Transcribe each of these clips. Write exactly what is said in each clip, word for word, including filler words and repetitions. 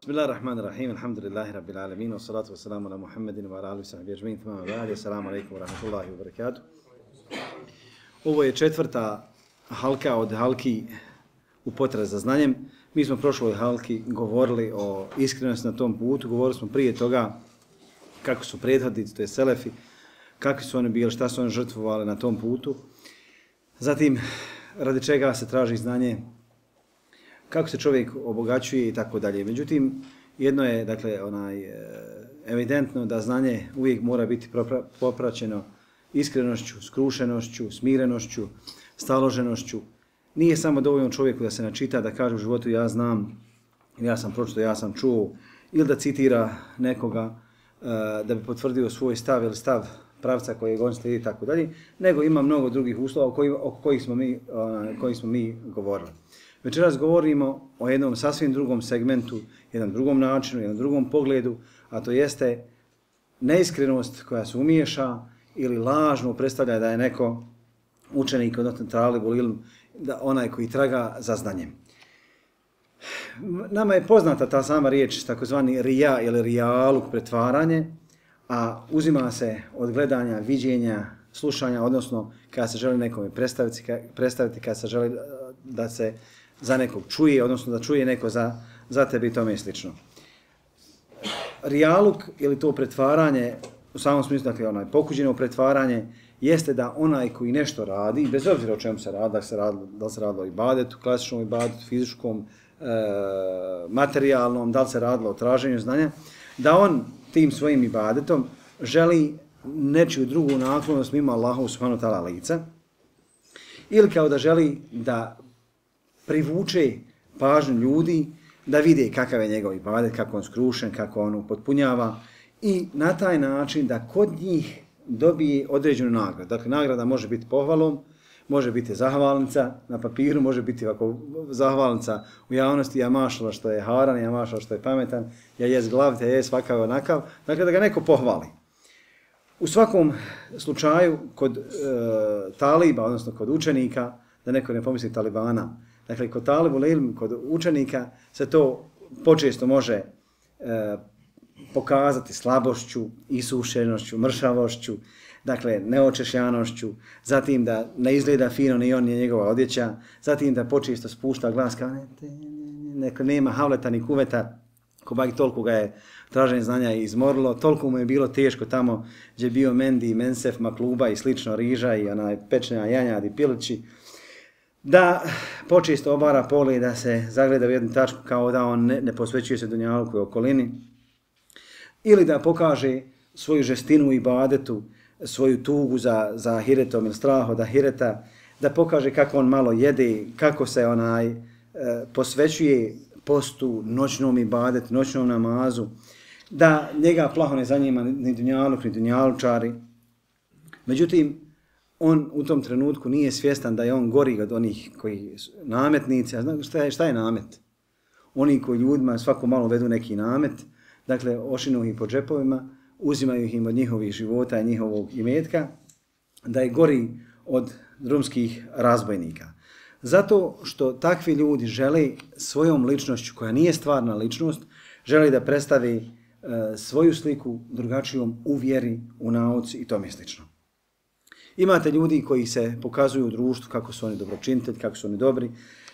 Bismillahirrahmanirrahim, alhamdulillahi rabbil alamin, wa salatu wa salamu ala Muhammedin wa ala alihi wa sahbihi ajma'in, thumma amma ba'd, assalamu alaikum wa rahmatullahi wa barakatuh. Ovo je četvrta halka od halki u potrazi za znanjem. Mi smo prošloj halki govorili o iskrenosti na tom putu, govorili smo prije toga kako su prethodnici, to je selefi, kakvi su oni bili, šta su oni žrtvovali na tom putu. Zatim, radi čega se traži znanje, kako se čovjek obogaćuje i tako dalje. Međutim, jedno je, dakle, onaj, evidentno da znanje uvijek mora biti popraćeno iskrenošću, skrušenošću, smirenošću, staloženošću. Nije samo dovoljno čovjeku da se načita, da kaže u životu ja znam, ja sam pročito, ja sam čuo, ili da citira nekoga da bi potvrdio svoj stav ili stav pravca kojeg on slijedi i tako dalje, nego ima mnogo drugih uslova o kojih smo mi, o kojih smo mi govorili. Večeras govorimo o jednom sasvim drugom segmentu, jednom drugom načinu, jednom drugom pogledu, a to jeste neiskrenost koja se umiješa ili lažno predstavlja da je neko učenik, odnosno talibul ilm, da onaj koji traga za znanjem. Nama je poznata ta sama riječ, takozvani rija ili rijaluk, pretvaranje, a uzima se od gledanja, viđenja, slušanja, odnosno kada se želi nekome predstaviti, predstaviti kada se želi da se za nekog čuje, odnosno da čuje neko za, za tebe i tome i slično. Rijaluk ili to pretvaranje, u samom smislu, dakle, onaj pokuđeno pretvaranje, jeste da onaj koji nešto radi, bez obzira o čemu se radi, da se radilo, da li se radilo o ibadetu, klasičnom ibadetu, fizičkom, e, materijalnom, da li se radilo o traženju znanja, da on tim svojim ibadetom želi nečiju drugu naklonost mimo Allahu subhanahu wa ta'ala lica, ili kao da želi da privuče pažnju ljudi, da vide kakav je njegov ibadet, kako on skrušen, kako on upotpunjava i na taj način da kod njih dobije određenu nagradu. Dakle, nagrada može biti pohvalom, može biti zahvalnica na papiru, može biti ovako zahvalnica u javnosti, ja mašala što je haran, ja mašala što je pametan, ja jes glavit, ja jes svakav onakav. Dakle, da ga neko pohvali. U svakom slučaju, kod e, taliba, odnosno kod učenika, da neko ne pomisli talibana, dakle, kod talibul ilm, kod učenika, se to počesto može e, pokazati slabošću, isušenošću, mršavošću, dakle, neočešljanošću, zatim da ne izgleda fino ni on ni njegova odjeća, zatim da počesto spušta glas kao ne, neko nema havleta ni kuveta, ko bak toliko ga je traženje znanja izmorilo, toliko mu je bilo teško tamo gdje je bio Mendi, Mensef, Makluba i slično, riža i onaj pečnja janjad i pilići, da počesto obara pole, da se zagleda u jednu tačku kao da on ne, ne posvećuje se dunjaluku i okolini, ili da pokaže svoju žestinu u ibadetu, svoju tugu za, za hiretom ili strah od ahireta, da pokaže kako on malo jede, kako se onaj e, posvećuje postu, noćnom ibadetu, noćnom namazu, da njega plaho ne zanima ni dunjaluk, ni dunjalučari. Međutim, on u tom trenutku nije svjestan da je on gori od onih koji nametnici. A zna, šta, je, šta je namet? Oni koji ljudima svako malo vedu neki namet, dakle, ošinu ih po džepovima, uzimaju ih im od njihovih života i njihovog imetka, da je gori od drumskih razbojnika. Zato što takvi ljudi žele svojom ličnošću, koja nije stvarna ličnost, žele da predstavi e, svoju sliku drugačijom u vjeri, u nauci i tome slično. Imate ljudi koji se pokazuju u društvu kako su oni dobročinitelji, kako su oni dobri,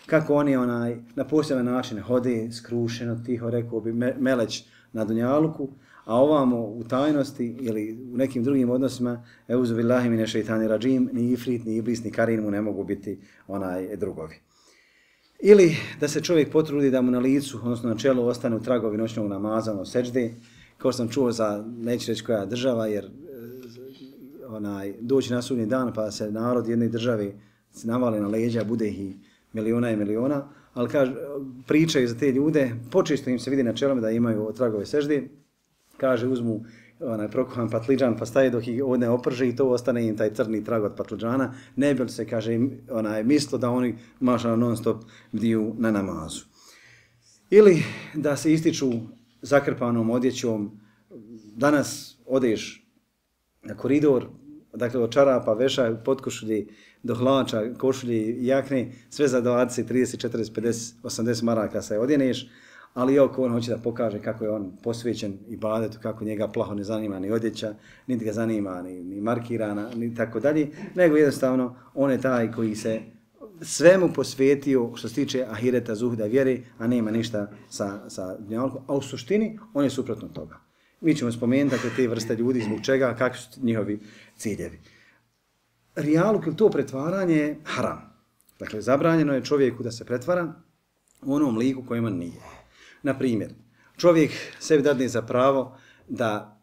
kako oni onaj na poseban način hode, skrušeno, tiho, rekao bi meleć na dunjaluku, a ovamo u tajnosti ili u nekim drugim odnosima, euzu billahi mine šeitani rajim, ni ifrit, ni iblis, ni karin mu ne mogu biti onaj drugovi. Ili da se čovjek potrudi da mu na licu, odnosno na čelu, ostanu tragovi noćnog namaza, ono seđde, kao sam čuo za, neću reći koja država, jer onaj, doći na sudnji dan pa se narod jedne države se navali na leđa, bude ih miliona i miliona, ali kaže, pričaju za te ljude, počesto im se vidi na čelom da imaju tragove sežde, kaže, uzmu onaj prokuhan patliđan pa staje dok ih ne oprže i to ostane im taj crni trag od patliđana, ne bi se, kaže, onaj, mislo da oni mašano non stop bdiju na namazu. Ili da se ističu zakrpanom odjećom, danas odeš na koridor, dakle od čarapa, veša, potkošulji, do hlača, košulji, jakne, sve za dvadeset, trideset, četrdeset, pedeset, osamdeset maraka se odjeneš, ali oko on hoće da pokaže kako je on posvećen ibadetu, kako njega plaho ne zanima ni odjeća, niti ga zanima ni, ni markirana, ni tako dalje, nego jednostavno on je taj koji se svemu posvetio što se tiče ahireta, zuhda, vjere, a nema ništa sa, sa dunjalkom, a u suštini on je suprotno toga. Mi ćemo spomenuti dakle, te vrste ljudi, zbog čega, kakvi su njihovi ciljevi. Rijaluk ili to pretvaranje je haram. Dakle, zabranjeno je čovjeku da se pretvara u onom liku kojem on nije. Na primjer, čovjek sebi dadne za pravo da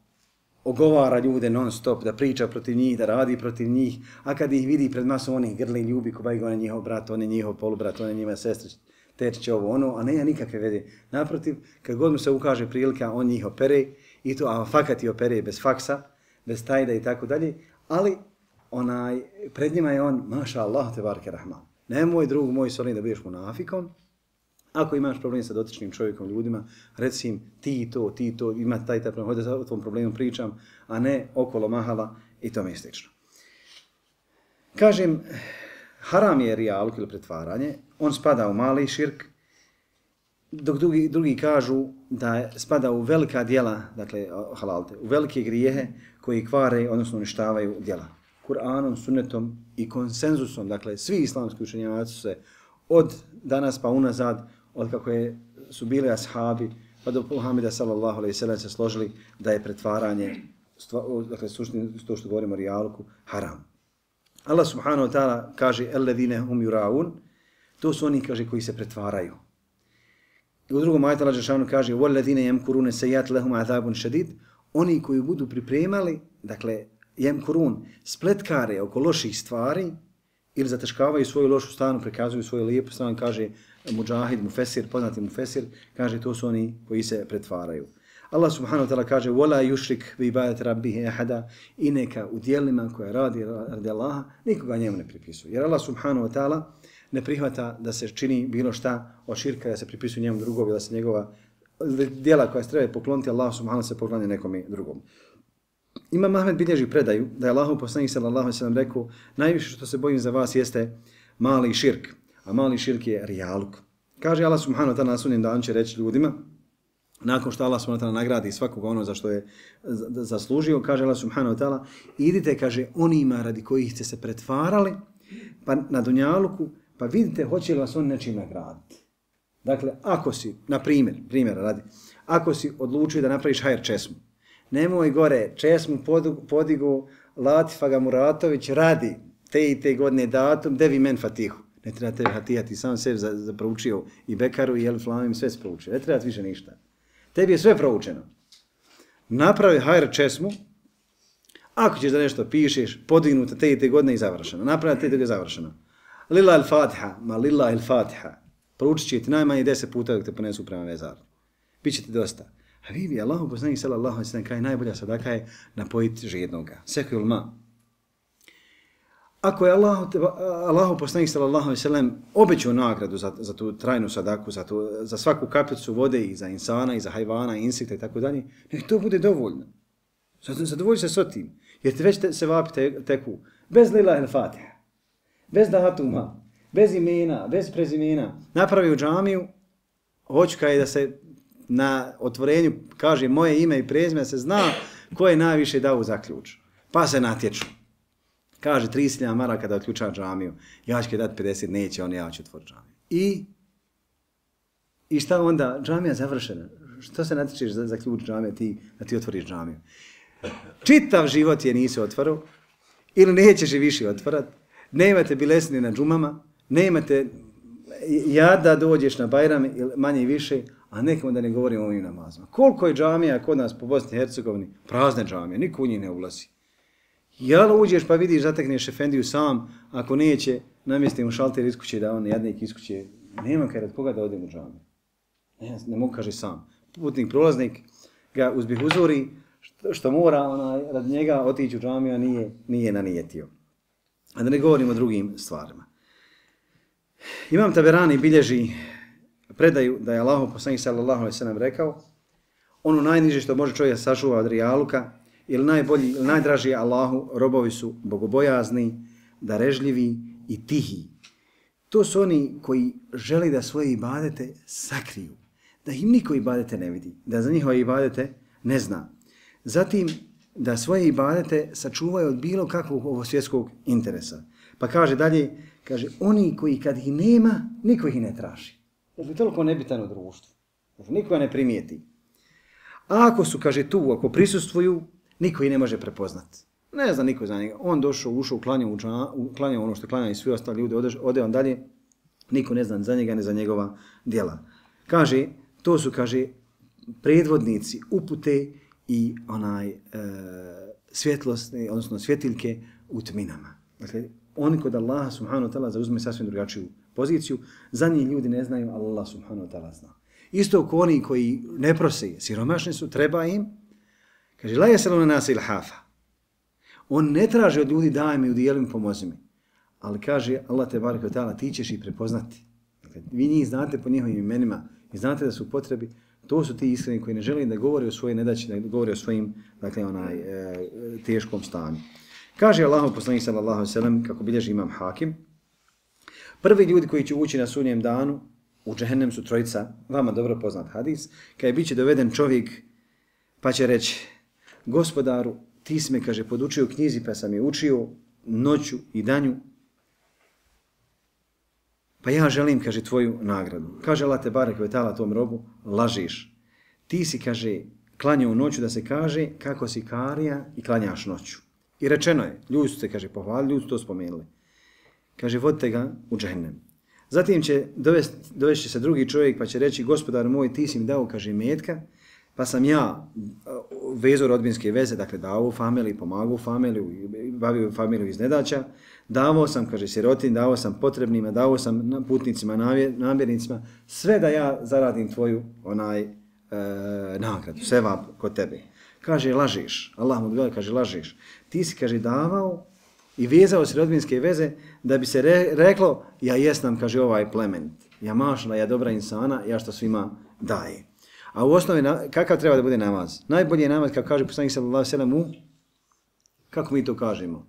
ogovara ljude non stop, da priča protiv njih, da radi protiv njih, a kad ih vidi pred masom onih grli ljubi, ko bajga on je njihov brat, on je njihov polubrat, on je njima sestra, tečiće ovo ono, a nema nikakve vede. Naprotiv, kad god mu se ukaže prilika, on njih opere, i to, a fakat i opere bez faksa, bez tajda i tako dalje, ali onaj, pred njima je on, maša Allah, te barke rahman. Nemoj drug moj solim da budeš munafikom. Ako imaš problem sa dotičnim čovjekom, ljudima, reci im ti to, ti to, ima taj taj problem, hodi da o tom problemu pričam, a ne okolo mahala i tome slično. Kažem, haram je rijaluk ili pretvaranje, on spada u mali širk, dok drugi, drugi kažu da spada u velika djela, dakle halalte, u velike grijehe koji kvare, odnosno uništavaju djela. Kur'anom, sunnetom i konsenzusom, dakle svi islamski učenjaci su se od danas pa unazad, od kako je, su bili ashabi, pa do Muhameda sallallahu alejhi ve sellem se složili da je pretvaranje, dakle suštini to što govorimo o rijaluku, haram. Allah subhanahu wa ta'ala kaže alladine hum yuraun, to su oni kaže koji se pretvaraju. I u drugom ajetu Allah dželle kaže walladine yamkuruna sayyi'at lahum azabun shadid, oni koji budu pripremali, dakle yamkurun, spletkare oko loših stvari ili zataškavaju svoju lošu stranu, prikazuju svoju lijepu stranu, kaže Mudžahid, Mufesir, poznati Mufesir, kaže to su oni koji se pretvaraju. Allah subhanahu wa ta'ala kaže وَلَا يُشْرِكْ بِبَادَةِ رَبِّهِ أَحَدًا, i neka u dijelima koje radi radi Allaha nikoga njemu ne pripisuje. Jer Allah subhanahu wa ta'ala ne prihvata da se čini bilo šta od širka, da se pripisuje njemu drugovi, da se njegova djela koja se treba pokloniti Allah subhanahu wa ta'ala se poklanja nekome drugom. Imam Ahmed bilježi predaju da je Allahov poslanik sallallahu alejhi ve sellem rekao najviše što se bojim za vas jeste mali širk, a mali širk je rijaluk. Kaže Allah subhanahu wa ta'ala na sudnjem danu će reći ljudima, nakon što Allah subhanahu wa ta'ala nagradi svakoga ono za što je zaslužio, kaže Allah subhanahu wa ta'ala, idite, kaže, onima radi kojih ste se pretvarali pa na dunjaluku, pa vidite hoće li vas on nečim nagraditi. Dakle, ako si, na primjer, primjera radi, ako si odlučio da napraviš hajr česmu, nemoj gore česmu podigu Latifa Gamuratović radi te i te godine datum, devi men fatihu. Ne treba tebi fatihati, ti sam sebi zaproučio i Bekaru i Elif Lamim, sve se proučio. Ne treba više ništa. Tebi je sve proučeno. Napravi hajr česmu, ako ćeš da nešto pišeš, podignuta te i te godine i završeno. Napravi te i te godine završeno. Lila il-Fatiha, ma lila il-Fatiha. Proučit će ti najmanje deset puta dok te ponesu prema vezaru. Biće ti dosta. A vi bi Allahu poslanik sallallahu alejhi ve sellem kaže najbolja sadaka je napojiti žednoga. Sekul ma. Ako je Allahu Allahu poslanik sallallahu alejhi ve sellem obećao nagradu za za tu trajnu sadaku, za tu za svaku kapljicu vode i za insana i za hajvana, insekta i tako dalje, nek to bude dovoljno. Zadovolji se s tim. Jer ti već te, se vapi te, teku bez lila il Fatiha, bez datuma, bez imena, bez prezimena. Napravi u džamiju, hoću kaj da se na otvorenju kaže moje ime i prezime, se zna ko je najviše dao zaključ. Pa se natječu. Kaže trideset hiljada maraka da otključa džamiju. Ja ću dati pedeset, neće on, ja ću otvoriti džamiju. I, I šta onda? Džamija završena. Što se natječeš za, za ključ džamije ti, da ti otvoriš džamiju? Čitav život je nisi otvorao ili nećeš je više otvarat. Nemate bilesni na džumama, nemate jada dođeš na Bajram ili manje i više, a nekom da ne govorimo o ovim namazima. Koliko je džamija kod nas po Bosni i Hercegovini? Prazne džamije, niko u njih ne ulazi. Jel uđeš pa vidiš, zatekneš efendiju sam, ako neće, namjestimo šalter iz kuće da on jadnik iz kuće, nema kaj rad koga da odem u džamiju. Ne, ne mogu kaže sam. Putnik, prolaznik ga uzbih uzori, što, što mora onaj, rad njega otići u džamiju, a nije, nije nanijetio. A da ne govorimo o drugim stvarima. Imam Taberani bilježi predaju da je Allahov poslanik sallallahu alejhi ve sellem rekao ono najniže što može čovjek sačuva od rijaluka ili najbolji, ili najdraži Allahu robovi su bogobojazni, darežljivi i tihi. To su oni koji želi da svoje ibadete sakriju, da im niko ibadete ne vidi, da za njihove ibadete ne zna. Zatim, da svoje ibadete sačuvaju od bilo kakvog ovo svjetskog interesa. Pa kaže dalje, kaže, oni koji kad ih nema, niko ih ne traži. Dakle, toliko nebitan u društvu. Dakle, niko ne primijeti. A ako su, kaže, tu, ako prisustvuju, niko ih ne može prepoznati. Ne zna niko za njega. On došao, ušao, klanjao, klanjao ono što klanjao i svi ostali ljudi, ode, ode on dalje, niko ne zna za njega, ne za njegova djela. Kaže, to su, kaže, predvodnici upute i onaj e, svjetlost, odnosno svjetiljke u tminama. Dakle, oni kod Allaha subhanahu wa ta'ala zauzme sasvim drugačiju poziciju, za njih ljudi ne znaju, Allah subhanahu wa ta'ala zna. Isto ko oni koji ne prose, siromašni su, treba im, kaže, la yasaluna nasa ilhafa. On ne traži od ljudi daj mi, udijeli mi, pomozi mi. Ali kaže Allah te barek ve ta'ala, ti ćeš ih prepoznati. Dakle, vi njih znate po njihovim imenima i znate da su u potrebi. To su ti iskreni koji ne žele da govore o svojoj nedaći, da govore o svojim, dakle, onaj, e, teškom stanju. Kaže Allahov poslanik sallallahu alejhi ve sellem, kako bilježi imam Hakim, prvi ljudi koji će ući na sudnjem danu u džehennem su trojica, vama dobro poznat hadis, kada bit će doveden čovjek pa će reći, gospodaru, ti si me, kaže, podučio knjizi pa sam je učio noću i danju, pa ja želim, kaže, tvoju nagradu. Kaže Allah te barek ve ta'ala tom robu, lažiš. Ti si, kaže, klanjao noću da se kaže kako si karija i klanjaš noću. I rečeno je, ljudi su te, kaže, pohvalili, ljudi su to spomenuli. Kaže, vodite ga u džehennem. Zatim će dovesti, dovesti se drugi čovjek pa će reći, gospodar moj, ti si mi dao, kaže, metka, pa sam ja vezao rodbinske veze, dakle dao u familiji, pomagao u familiju, bavio u familiju iz nedaća, davao sam, kaže, sirotin, davao sam potrebnima, davao sam putnicima, namjernicima, sve da ja zaradim tvoju onaj e, nagradu, sevap kod tebe. Kaže, lažiš, Allah mu odgovara, kaže, lažiš. Ti si, kaže, davao i vezao si rodbinske veze da bi se re, reklo, ja jesam, kaže, ovaj plement, ja mašla, ja dobra insana, ja što svima daje. A u osnovi, kakav treba da bude namaz? Najbolji je namaz, kako kaže poslanik sallallahu alejhi ve sellem, u, kako mi to kažemo?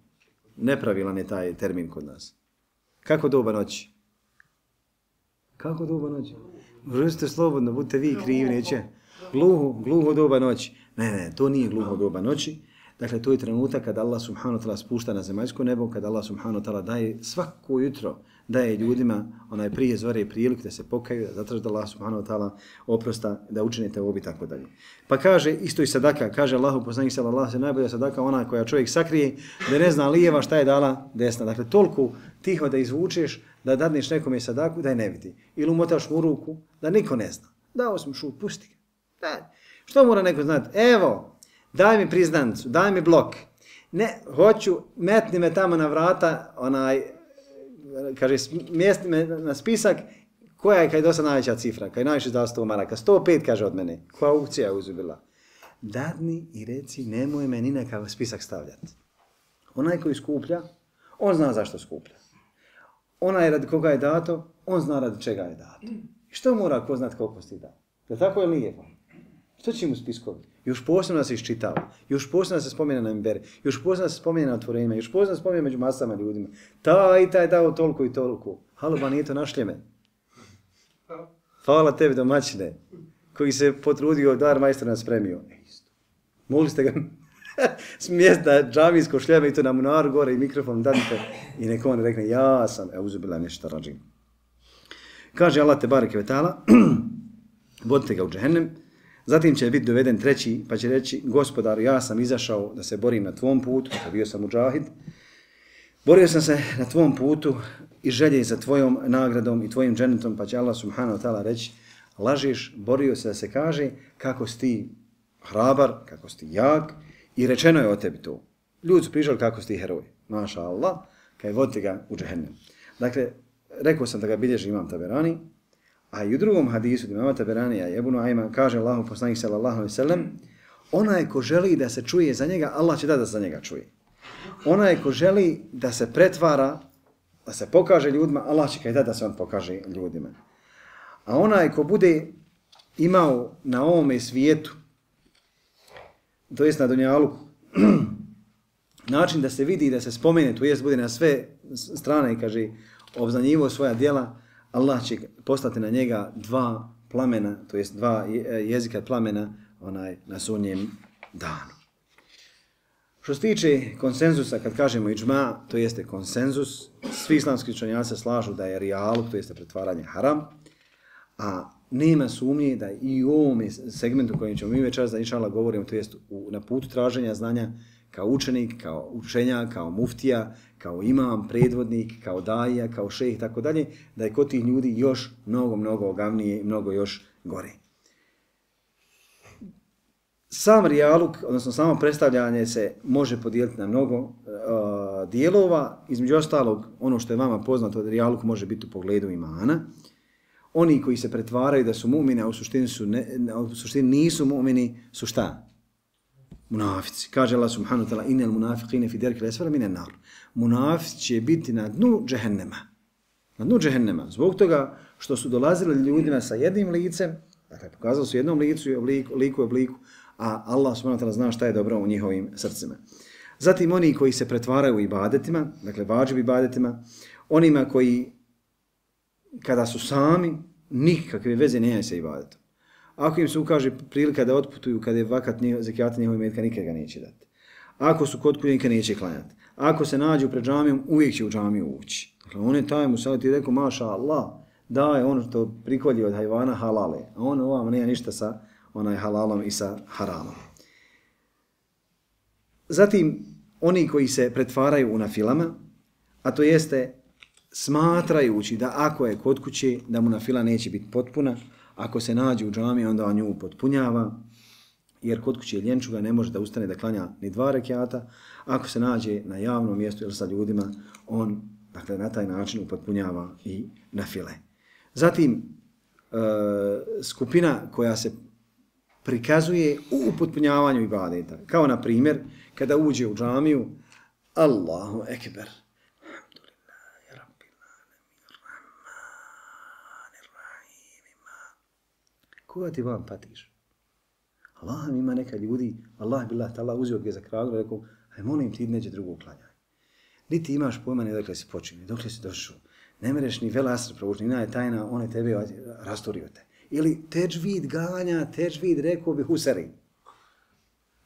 Nepravilan je taj termin kod nas. Kako doba noći? Kako doba noći? Možete slobodno, budite vi krivi, neće. Gluho, gluho doba noći. Ne, ne, to nije gluho doba noći. Dakle, to je trenutak kada Allah subhanahu wa ta'ala spušta na zemaljsko nebo, kada Allah subhanahu wa ta'ala daje svako jutro, daje ljudima onaj prije zore priliku da se pokaju, da zatraže da Allah subhanahu wa ta'ala oprosta, da učinite ovo i tako dalje. Pa kaže, isto i sadaka, kaže Allahu poslanik sallallahu alejhi ve sellem, najbolja sadaka ona koja čovjek sakrije, da ne zna lijeva šta je dala desna. Dakle, toliko tiho da izvučeš, da dadneš nekome sadaku, da je ne vidi. Ili umotaš mu ruku, da niko ne zna. Dao sam šut, pusti ga. Da. Što mora neko znati? Evo, daj mi priznancu, daj mi blok. Ne, hoću, metni me tamo na vrata, onaj, kaže, mjesti me na spisak, koja je, kaj je dosta najveća cifra, kaj je najviše dao sto maraka, sto pet kaže od mene, koja aukcija je uzubila. Dadni i reci, nemoj me ni nekav spisak stavljati. Onaj koji skuplja, on zna zašto skuplja. Onaj radi koga je dato, on zna radi čega je dato. I što mora ko znati koliko si dao? Je tako ili nije? Što će mu spiskovi? Još posebno da se iščitava, još posebno da se spomene na imberi, još posebno da se spomene na otvorenjima, još posebno da se spomene među masama ljudima. Taj i taj dao toliko i toliko. Halo, ba nije to našljeme. Hvala tebi domaćine, koji se potrudio dar majstora spremio. Mogli ste ga smjesti na džamijsko šljeme i to na munaru gore i mikrofon dadite i neko on rekne ja sam, e uzubila nešto rađim. Kaže Allah te bareke ve ta'ala, vodite ga u džehennem. Zatim će biti doveden treći, pa će reći, gospodaru, ja sam izašao da se borim na tvom putu, pa bio sam muđahid. Borio sam se na tvom putu i želje za tvojom nagradom i tvojim džennetom, pa će Allah subhanahu wa ta'ala reći, lažiš, borio se da se kaže kako si ti hrabar, kako si ti jak i rečeno je o tebi to. Ljudi su pričali kako si ti heroj. Maša Allah, kaj vodite ga u džehennem. Dakle, rekao sam da ga bilježi imam Taberani, a i u drugom hadisu, da imama Taberanija i Ebu Nuajma, kaže Allahu poslanik sallallahu alejhi ve sellem, onaj ko želi da se čuje za njega, Allah će dati da se za njega čuje. Onaj ko želi da se pretvara, da se pokaže ljudima, Allah će kaj dati da se on pokaže ljudima. A onaj ko bude imao na ovome svijetu, to jest na dunjaluku, način da se vidi i da se spomene, to jest bude na sve strane i kaže, obznanjivo svoja djela, Allah će poslati na njega dva plamena, to jest dva jezika plamena onaj, na sudnjem danu. Što se tiče konsenzusa, kad kažemo iđma, to jeste konsenzus, svi islamski učenjaci slažu da je rijaluk, to jeste pretvaranje haram, a nema sumnje da i u ovom segmentu kojem ćemo mi večeras da inšala govorimo, to jest u, na putu traženja znanja, kao učenik, kao učenjak, kao muftija, kao imam, predvodnik, kao daja, kao šejh i tako dalje, da je kod tih ljudi još mnogo, mnogo ogavnije i mnogo još gore. Sam rijaluk, odnosno samo predstavljanje se može podijeliti na mnogo uh, dijelova. Između ostalog, ono što je vama poznato, da rijaluk može biti u pogledu imana. Oni koji se pretvaraju da su mu'mini, a u suštini, su ne, u suštini nisu mu'mini, su šta? Munafici. Kaže Allah subhanahu wa ta'ala, inel munafiqine fi derki lesfara mine nar. Munafici će biti na dnu džehennema. Na dnu džehennema. Zbog toga što su dolazili ljudima sa jednim licem, dakle, pokazali su jednom licu i obliku, liku i obliku, a Allah subhanahu wa ta'ala zna šta je dobro u njihovim srcima. Zatim oni koji se pretvaraju u ibadetima, dakle vađib ibadetima, onima koji kada su sami, nikakve veze nemaju sa ibadetom. Ako im se ukaže prilika da otputuju kada je vakat zekijata njihovih metka, nikad ga neće dati. Ako su kod kuće, nikad neće klanjati. Ako se nađu pred džamijom, uvijek će u džamiju ući. Dakle, on je taj mu sad ti rekao, maša Allah, daje ono što prikolji od hajvana halale, a on ovam nema ništa sa onaj halalom i sa haramom. Zatim, oni koji se pretvaraju u nafilama, a to jeste smatrajući da ako je kod kuće, da mu nafila neće biti potpuna, ako se nađe u džami, onda on nju potpunjava, jer kod kuće ljenčuga ne može da ustane da klanja ni dva rekiata, ako se nađe na javnom mjestu ili sa ljudima, on dakle, na taj način upotpunjava i nafile. Zatim, e, skupina koja se prikazuje u upotpunjavanju ibadeta. Kao na primjer, kada uđe u džamiju, Allahu ekber. Koga ti vam patiš? Allah ima neka ljudi, Allah billah ta'ala uzio ga za kragu i rekao, aj molim ti neđe drugo klanjaj. Niti imaš pojma ni dokle si počinio, dokle si došao. Ne mereš ni vela asr provučni, ina je tajna, on je tebe rastorio te. Ili teđvid ganja, teđvid rekao bi Husari.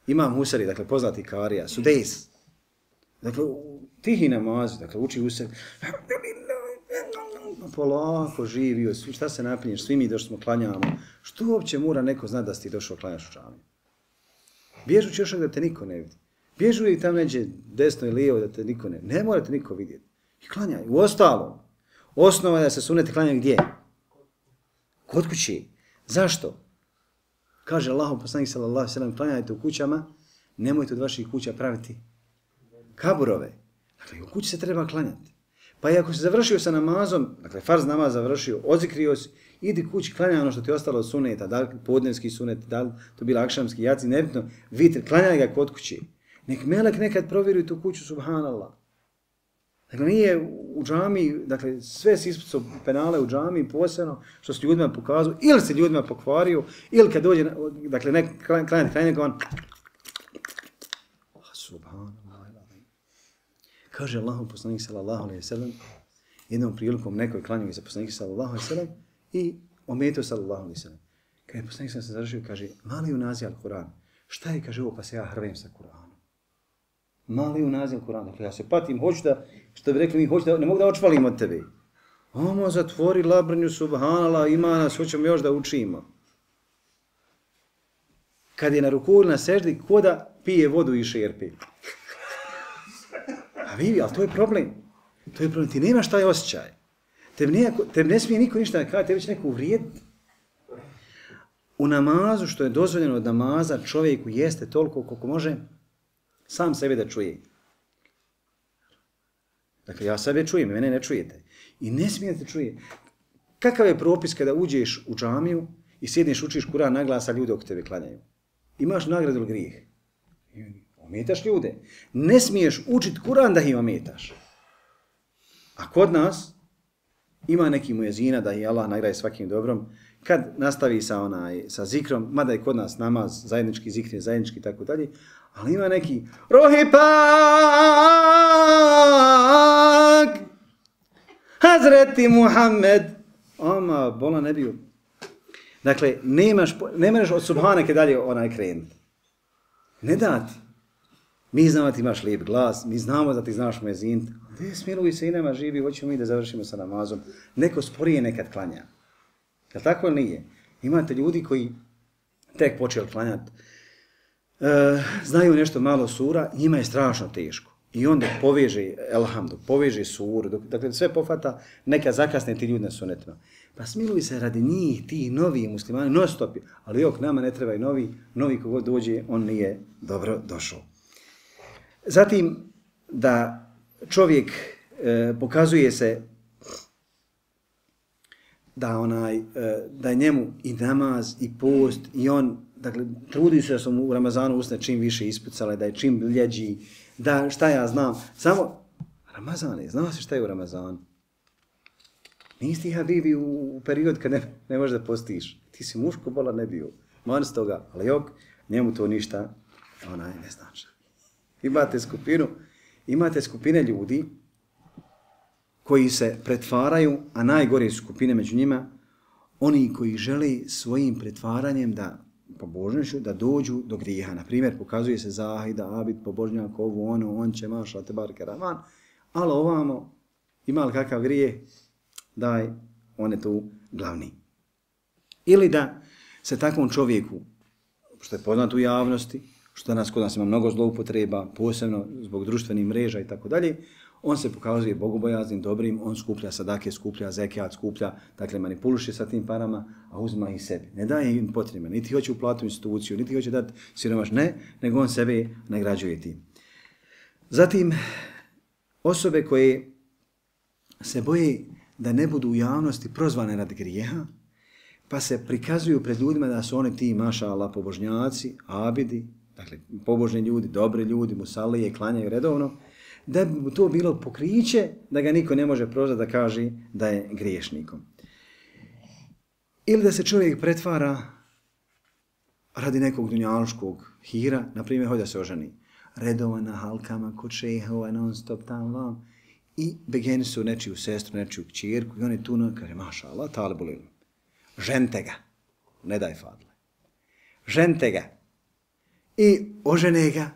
Imam Husari, dakle poznati karija, Sudejs. Dakle, tihi namazi, dakle uči Husari. Polako živio, šta se napinješ, svi mi došli smo klanjamo. Što uopće mora neko znati da si ti došao klanjaš u džamiju? Bježući još da te niko ne vidi. Bježu i tamo neđe desno i lijevo da te niko ne vidi. Ne mora te niko vidjeti. I klanjaj. U ostalom, osnova je da se sunete klanjaju gdje? Kod kući. Zašto? Kaže Allahov poslanik sallallahu alejhi ve sellem, klanjajte u kućama, nemojte od vaših kuća praviti kaburove. Dakle, u kući se treba klanjati. Pa i ako si završio sa namazom, dakle, farz namaz završio, odzikrio si, idi kući, klanjaj ono što ti je ostalo od suneta, da li podnevski sunet, da li to bila akšamski, jaci, nebitno, vitr, klanjaj ga kod kući. Nek melek nekad provjeruje tu kuću, subhanallah. Dakle, nije u džami, dakle, sve si ispucao penale u džami, posebno što se ljudima pokazao, ili se ljudima pokvario, ili kad dođe, dakle, nek klanjati, klanjati, on, subhanallah. Kaže Allahov poslanik sallallahu alejhi ve sellem, jednom prilikom nekoj klanjao za poslanika sallallahu alejhi ve sellem i ometio sallallahu alejhi ve sellem. Kad je poslanik se završio, kaže, mali unazi al-Kur'an. Šta je, kaže, ovo pa se ja hrvem sa Kur'anom. Mali unazi al-Kur'an. Dakle, ja se patim, hoću da, što bi rekli mi, hoću da, ne mogu da očvalim od tebe. Omo, zatvori labrnju, subhanallah, ima nas, hoćemo još da učimo. Kad je na ruku na seždi, ko da pije vodu i šerpi. A vidi, ali to je problem. To je problem. Ti nemaš taj osjećaj. Te ne, te ne smije niko ništa da kada, te već neko uvrijediti. U namazu, što je dozvoljeno od namaza, čovjeku jeste toliko koliko može sam sebe da čuje. Dakle, ja sebe čujem, mene ne čujete. I ne smije da te čuje. Kakav je propis kada uđeš u džamiju i sjedneš, učiš Kur'an na glas, a ljudi oko tebe klanjaju? Imaš nagradu ili grijeh? Ometaš ljude. Ne smiješ učiti Kur'an da ih ometaš. A kod nas ima neki mujezina da ih Allah nagraje svakim dobrom. Kad nastavi sa onaj sa zikrom, mada je kod nas namaz, zajednički zikr, zajednički tako dalje, ali ima neki Rohipak Hazreti Muhammed. Ama, bola ne bio. Dakle, nemaš, ne možeš od subhaneke dalje onaj krenuti. Ne dati. Mi znamo da ti imaš lijep glas, mi znamo da ti znaš mezint. Gdje smiluj se i nema živi, hoćemo mi da završimo sa namazom. Neko sporije nekad klanja. Jel tako ili nije? Imate ljudi koji tek počeli klanjati, e, znaju nešto malo sura, njima je strašno teško. I onda poveže, elhamdu, poveže suru, dok, dakle sve pofata, neka zakasne ti ljudi na sunetima. Pa smiluj se radi njih, ti novi muslimani, non stop, ali jok, nama ne treba i novi, novi kogod dođe, on nije dobro došao. Zatim, da čovjek e, pokazuje se da onaj, e, da je njemu i namaz, i post, i on, dakle, trudi se da su mu u Ramazanu usne čim više ispucale, da je čim ljeđi, da šta ja znam, samo Ramazan je, znao si šta je u Ramazanu? Nisi ti habibi u, u period kad ne, ne možeš da postiš. Ti si muško bola ne bio. Man s toga, ali jok, njemu to ništa, onaj, ne znači. Imate skupinu, imate skupine ljudi koji se pretvaraju, a najgore su skupine među njima, oni koji žele svojim pretvaranjem da pobožnošću da dođu do grijeha. Na primjer, pokazuje se zahida, abid, pobožnjak, ovo, ono, on će maša, te barke, raman, ali ovamo, ima li kakav grijeh, daj, on je tu glavni. Ili da se takvom čovjeku, što je poznat u javnosti, što danas kod nas ima mnogo zloupotreba, posebno zbog društvenih mreža i tako dalje, on se pokazuje bogobojaznim, dobrim, on skuplja sadake, skuplja zekijat, skuplja, dakle manipuliše sa tim parama, a uzma ih sebi. Ne daje im potrebe, niti hoće uplatiti instituciju, niti hoće dati siromaš, ne, nego on sebe nagrađuje tim. Zatim, osobe koje se boje da ne budu u javnosti prozvane radi grijeha, pa se prikazuju pred ljudima da su oni ti, maša Allah, pobožnjaci, abidi, dakle pobožni ljudi, dobri ljudi, musalije, klanjaju redovno, da bi to bilo pokriće da ga niko ne može prozvati da kaže da je griješnikom. Ili da se čovjek pretvara radi nekog dunjaluškog hira, na primjer, hoće da se oženi. Redovan na halkama, kod šejhova, non stop tam vam. I begeni su nečiju sestru, nečiju kćerku i on je tu, kaže, maša Allah, talibu lilu. Žente ga, ne daj fadle. Žente ga. I ožene ga,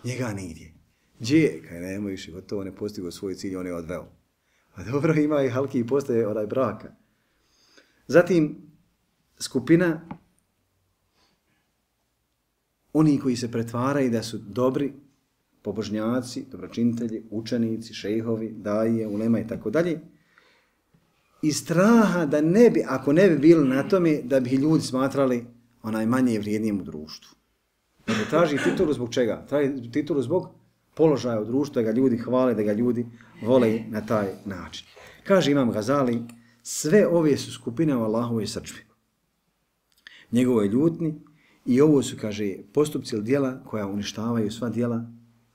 njega nigdje. Gdje je? Kaj nema više, gotovo ne postigo svoj cilj, on je odveo. A dobro, ima i halki i postaje onaj braka. Zatim, skupina oni koji se pretvaraju da su dobri, pobožnjaci, dobročinitelji, učenici, šejhovi, daje, ulema i tako dalje, i straha da ne bi, ako ne bi bili na tome, da bi ljudi smatrali onaj manje vrijednijim u društvu. Dakle, traži titulu zbog čega? Traži titulu zbog položaja u društvu, da ga ljudi hvale, da ga ljudi vole na taj način. Kaže Imam Gazali, sve ove su skupine u Allahovoj srđbi. Njegovoj ljutni i ovo su, kaže, postupci ili djela koja uništavaju sva djela,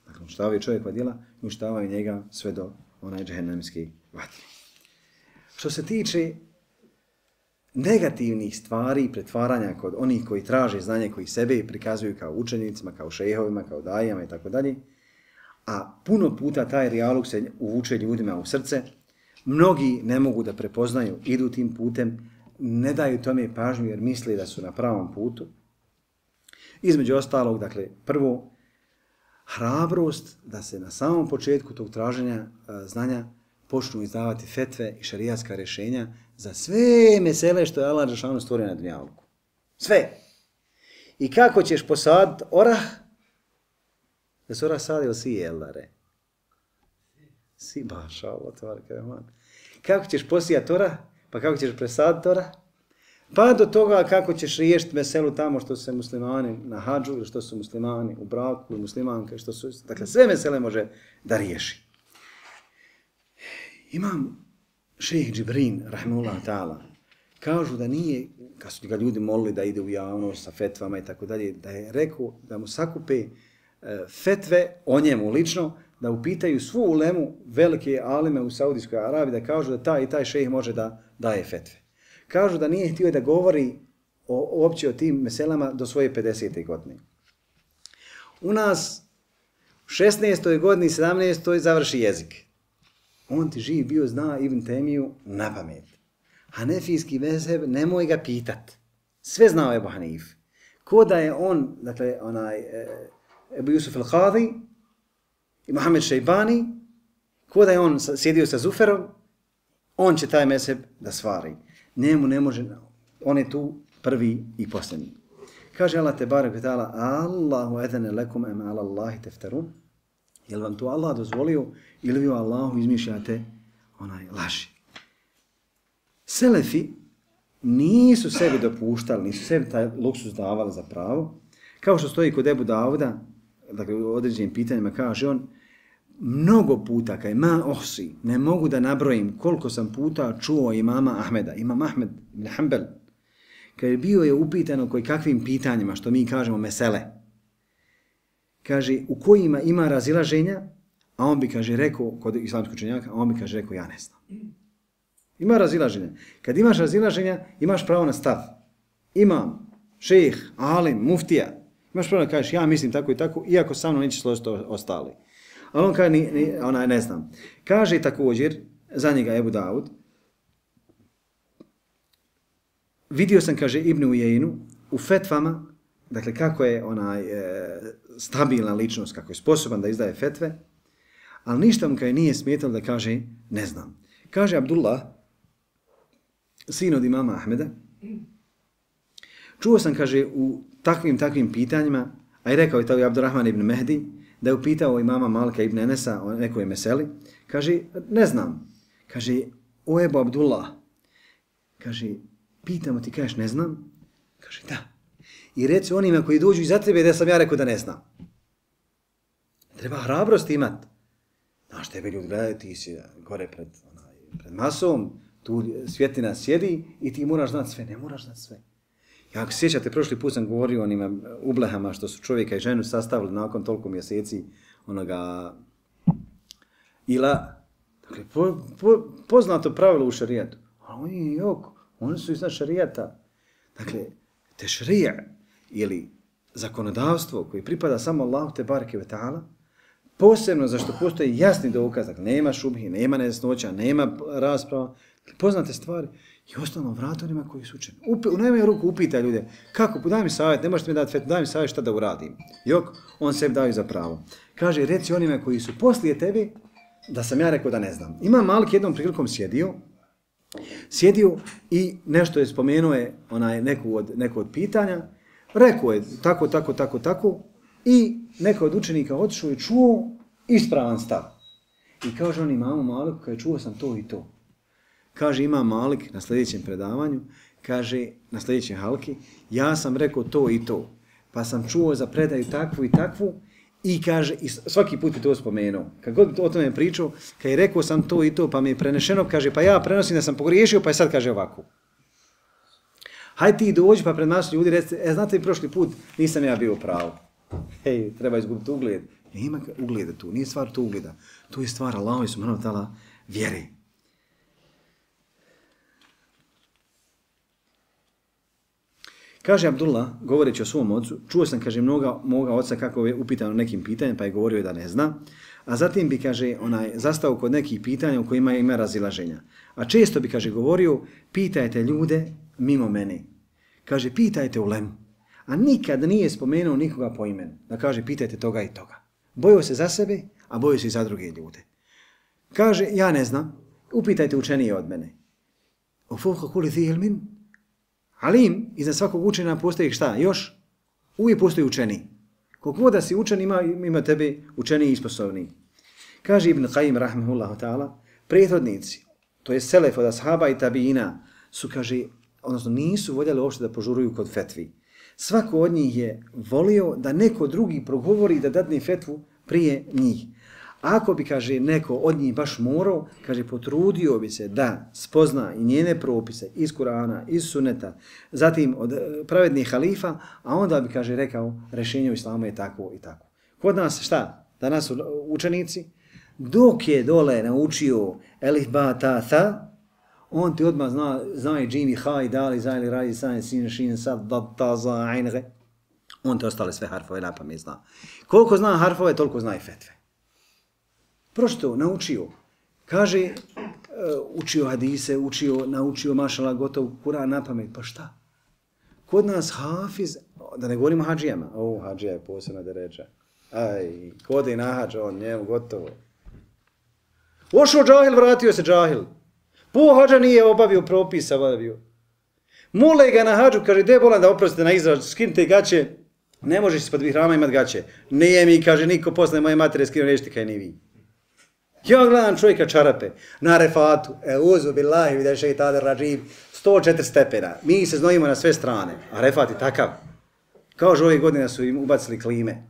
dakle, uništavaju čovjekova djela, uništavaju njega sve do onaj džehennemski vatri. Što se tiče negativnih stvari i pretvaranja kod onih koji traže znanje, koji sebe prikazuju kao učenicima, kao šejhovima, kao dajama i tako dalje, a puno puta taj rijalog se uvuče ljudima u srce, mnogi ne mogu da prepoznaju, idu tim putem, ne daju tome pažnju jer misle da su na pravom putu. Između ostalog, dakle, prvo, hrabrost da se na samom početku tog traženja a, znanja počnu izdavati fetve i šarijatska rješenja za sve mesele što je Allah dželešanu stvorio na dunjaluku. Sve. I kako ćeš posaditi orah? Da se orah sadi ili si jeldare? Si, baša Allah, tvarka reman. Kako ćeš posijati orah? Pa kako ćeš presaditi orah? Pa do toga kako ćeš riješiti meselu tamo što su muslimani na hadžu ili što su muslimani u braku, muslimanke, što su, dakle sve mesele može da riješi. Imam šejh Džibrin, rahimahullah ta'ala, kažu da nije, kad su ga ljudi molili da ide u javnost sa fetvama i tako dalje, da je rekao da mu sakupe fetve o njemu lično, da upitaju svu ulemu velike alime u Saudijskoj Arabiji, da kažu da taj i taj šejh može da daje fetve. Kažu da nije htio da govori o, uopće o tim meselama do svoje pedesete godine. U nas u šesnaestoj godini, sedamnaestoj završi jezik. On ti živ bio, zna Ibn Temiju na pamet. Hanefijski mezheb, nemoj ga pitat. Sve znao Ebu Hanif. Ko da je on, dakle, onaj, Ebu Jusuf al-Qadi i Mohamed Šejbani, ko da je on sjedio sa Zuferom, on će taj mezheb da stvari. Njemu ne može, on je tu prvi i posljednji. Kaže Allah te barek ve ta'ala, Allahu edene lekum em ala Allahi teftarun. Je li vam to Allah dozvolio ili vi o Allahu izmišljate onaj laži? Selefi nisu sebi dopuštali, nisu sebi taj luksus davali za pravo. Kao što stoji kod Ebu Dauda, dakle u određenim pitanjima kaže on, mnogo puta, kaj ma ohsi, ne mogu da nabrojim koliko sam puta čuo imama Ahmeda, imam Ahmed ibn Hanbel, kad bio je upitano koji kakvim pitanjima, što mi kažemo mesele, kaže u kojima ima razilaženja, a on bi, kaže, rekao, kod islamskog učenjaka, a on bi, kaže, rekao, ja ne znam. Ima razilaženja. Kad imaš razilaženja, imaš pravo na stav. Imam, šejh, alim, muftija. Imaš pravo da kažeš, ja mislim tako i tako, iako sa mnom neće složiti ostali. Ali on kaže, ni, ni, ona ne znam. Kaže također, za njega Ebu Daud, vidio sam, kaže, Ibn Ujejnu u fetvama, dakle, kako je onaj e, stabilna ličnost, kako je sposoban da izdaje fetve, ali ništa mu kaj nije smetalo da kaže, ne znam. Kaže Abdullah, sin od imama Ahmeda, čuo sam, kaže, u takvim, takvim pitanjima, a i rekao je to i Abdurrahman ibn Mehdi, da je upitao imama Malika ibn Enesa o nekoj meseli, kaže, ne znam. Kaže, o Ebu Abdullah, kaže, pitamo ti, kažeš, ne znam? Kaže, da. I reci onima koji dođu iza tebe da sam ja rekao da ne znam. Treba hrabrost imat. Znaš, tebe ljudi gledaju, ti si gore pred, onaj, pred masom, tu svjetlina sjedi i ti moraš znati sve. Ne moraš znati sve. Ja ako sjećate, prošli put sam govorio o onima ublehama što su čovjeka i ženu sastavili nakon toliko mjeseci onoga ila. Dakle, po, po, poznato pravilo u šarijatu. A oni, jok, oni su iznad šarijata. Dakle, te šarija ili zakonodavstvo koji pripada samo Allahu te bareke ve ta'ala, posebno zašto postoji jasni dokaz, dakle, nema šubhi, nema nejasnoća, nema rasprava, poznate stvari, i ostalo vrata onima koji su učeni. Upi, u najmanju ruku upita ljude, kako, daj mi savjet, ne možete mi dati fet, daj mi savjet šta da uradim. Jok, on sebi daju za pravo. Kaže, reci onima koji su poslije tebi, da sam ja rekao da ne znam. Imam Malik jednom prilikom sjedio, sjedio i nešto je spomenuo je onaj neku od, neku od pitanja, rekao je tako, tako, tako, tako, i neko od učenika otišao i čuo ispravan stav. I kaže on imamu Maliku, kaže, čuo sam to i to. Kaže imam Malik na sljedećem predavanju, kaže na sljedećem halki, ja sam rekao to i to, pa sam čuo za predaju takvu i takvu, i kaže, i svaki put je to spomenuo. Kad god o tome pričao, kad je rekao sam to i to, pa mi je prenešeno, kaže, pa ja prenosim da sam pogriješio, pa je sad kaže ovako. Hajde ti dođi, pa pred nas ljudi recite, e, znate li prošli put, nisam ja bio pravo. Hej, treba izgubiti ugled. Nema ugleda tu, nije stvar tu ugleda. Tu je stvar Allahovi subhanahu wa ta'ala vjere. Kaže Abdullah, govoreći o svom ocu, čuo sam, kaže, mnoga moga oca kako je upitano nekim pitanjem, pa je govorio da ne zna, a zatim bi, kaže, onaj, zastao kod nekih pitanja u kojima ima razilaženja. A često bi, kaže, govorio, pitajte ljude mimo mene. Kaže, pitajte ulemu. A nikad nije spomenuo nikoga po imenu. Da kaže, pitajte toga i toga. Bojio se za sebe, a bojio se i za druge ljude. Kaže, ja ne znam, upitajte učenije od mene. O fovka kuli thi ilmin? Alim, iznad svakog učenja postoji šta? Još? Uvijek postoji učeni. Koliko da si učen, ima, ima tebe učeniji i sposobniji. Kaže Ibn Qayyim, rahmehullahu ta'ala, prethodnici, to je selef od ashaba i tabiina, su, kaže, odnosno nisu voljeli uopšte da požuruju kod fetvi. Svako od njih je volio da neko drugi progovori da dadne fetvu prije njih. Ako bi, kaže, neko od njih baš morao, kaže, potrudio bi se da spozna i njene propise iz Kurana, iz Suneta, zatim od pravednih halifa, a onda bi, kaže, rekao, rješenje u islamu je tako i tako. Kod nas šta? Danas su učenici, dok je dole naučio elif, ba, ta, tha, on ti odmah zna, zna i džimi, ha, i dali, za, ili, raji, san, sin, šin, sad, da, ta, za, ajnre. On te ostale sve harfove na pamet zna. Koliko zna harfove, toliko zna i fetve. Prošto naučio? Kaže, učio hadise, učio, naučio mašala gotov Kur'an na pamet, pa šta? Kod nas hafiz, da ne govorimo hađijama, o, hađija je posebna deređa. Aj, kod je na hađa, on njemu gotovo. Ošao džahil, vratio se džahil. Po hađa nije obavio propisa, obavio. Mole ga na hađu, kaže, de bolan da oprostite na izraz, skinite gaće, ne možeš ispod vihrama imat gaće. Nije mi, kaže, niko posle moje matere skinu nećete kaj ni vi. Ja gledam čovjeka čarape na refatu, e uzu billahi vide šeitane rađim, sto četiri stepena. Mi se znojimo na sve strane, a refat je takav. Kao že ove godine su im ubacili klime.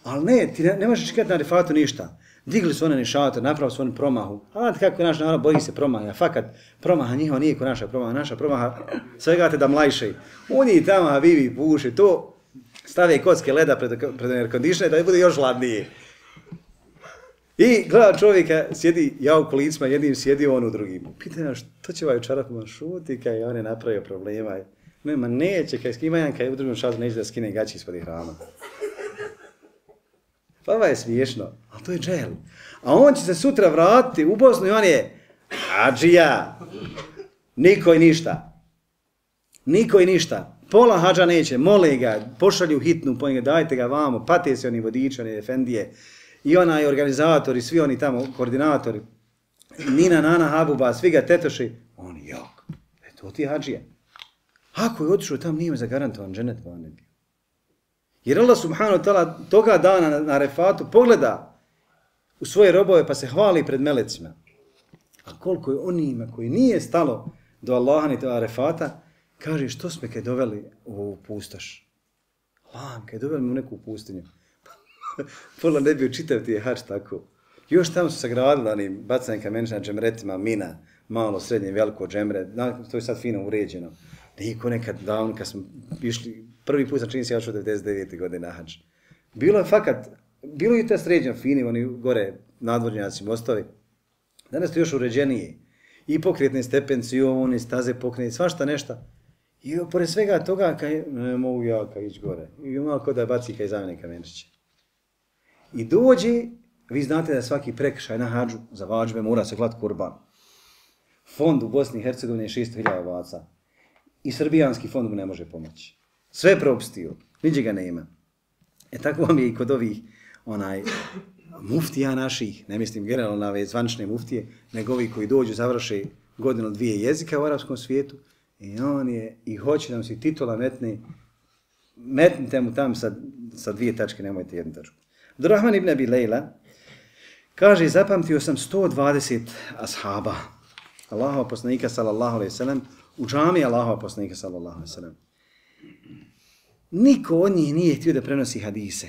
Ali ne, ti ne, ne možeš čekati na refatu ništa. Digli su one nišate, napravili su oni promahu. A znate kako naš narod boji se promaha. Fakat, promaha njihova nije ko naša promaha. Naša promaha, svega te da mlajše. Oni tamo habibi puše, to stave kocke leda pred, pred air-conditioner da bude još hladnije. I gleda čovjeka, sjedi ja u kolicima, jednim sjedi on u drugim. Pita ja, što će ovaj u čarapima šuti, kaj on je napravio problema. Nema, neće, kaj skima jedan, kaj u drugom šatu neće da skine gaći ispod hrama. Pa ovo je smiješno, ali to je džel. A on će se sutra vratiti u Bosnu i on je hađija. Niko i ništa. Niko i ništa. Pola hađa neće, mole ga, pošalju hitnu, po njega, dajte ga vamo, pate se oni vodiči, oni efendije. I onaj organizator i svi oni tamo, koordinatori, Nina, Nana, Habuba, svi ga tetoši, on je jak. E to ti je hađija. Ako je otišao tam, nije zagarantovan dženet van ne bio. Jer Allah subhanahu wa ta'ala toga dana na, na refatu pogleda u svoje robove pa se hvali pred melecima. A koliko je onima koji nije stalo do Allaha ni do refata, kaže što smo kaj doveli u pustoš. Allah, kaj doveli mu neku pustinju. Pola ne bio čitav ti je hač tako. Još tamo su sagradili onim bacanim kamenčima, džemretima, mina, malo, srednje, veliko džemre, to je sad fino uređeno. Niko nekad davno kad smo išli, prvi put sam čini se ja šao devedeset devete godine na hač. Bilo je fakat, bilo je to sređeno fini, oni gore nadvornjaci mostovi. Danas to još uređenije. I pokretne stepenci, i oni staze pokretne, svašta nešto. I pored svega toga, kaj, ne mogu ja kaj ići gore. I malo ko da baci kaj zamene kamenčiće. I dođe, vi znate da svaki prekršaj na hađu za vađbe mora se klati kurban. Fond u Bosni i Hercegovini je šesto hiljada ovaca. I srbijanski fond mu ne može pomoći. Sve je propustio, niđe ga nema. E tako vam je i kod ovih onaj, muftija naših, ne mislim generalno na ove zvančne muftije, nego ovi koji dođu, završe godinu dvije jezika u arapskom svijetu, i on je, i hoće nam si titula metne, metnite mu tam sa, sa dvije tačke, nemojte jednu tačku. Abdurrahman ibn Abi Lejla kaže, zapamtio sam sto dvadeset ashaba, Allahova poslanika sallallahu alejhi ve sellem, u džami Allahova poslanika sallallahu alejhi ve sellem. Niko od njih nije htio da prenosi hadise.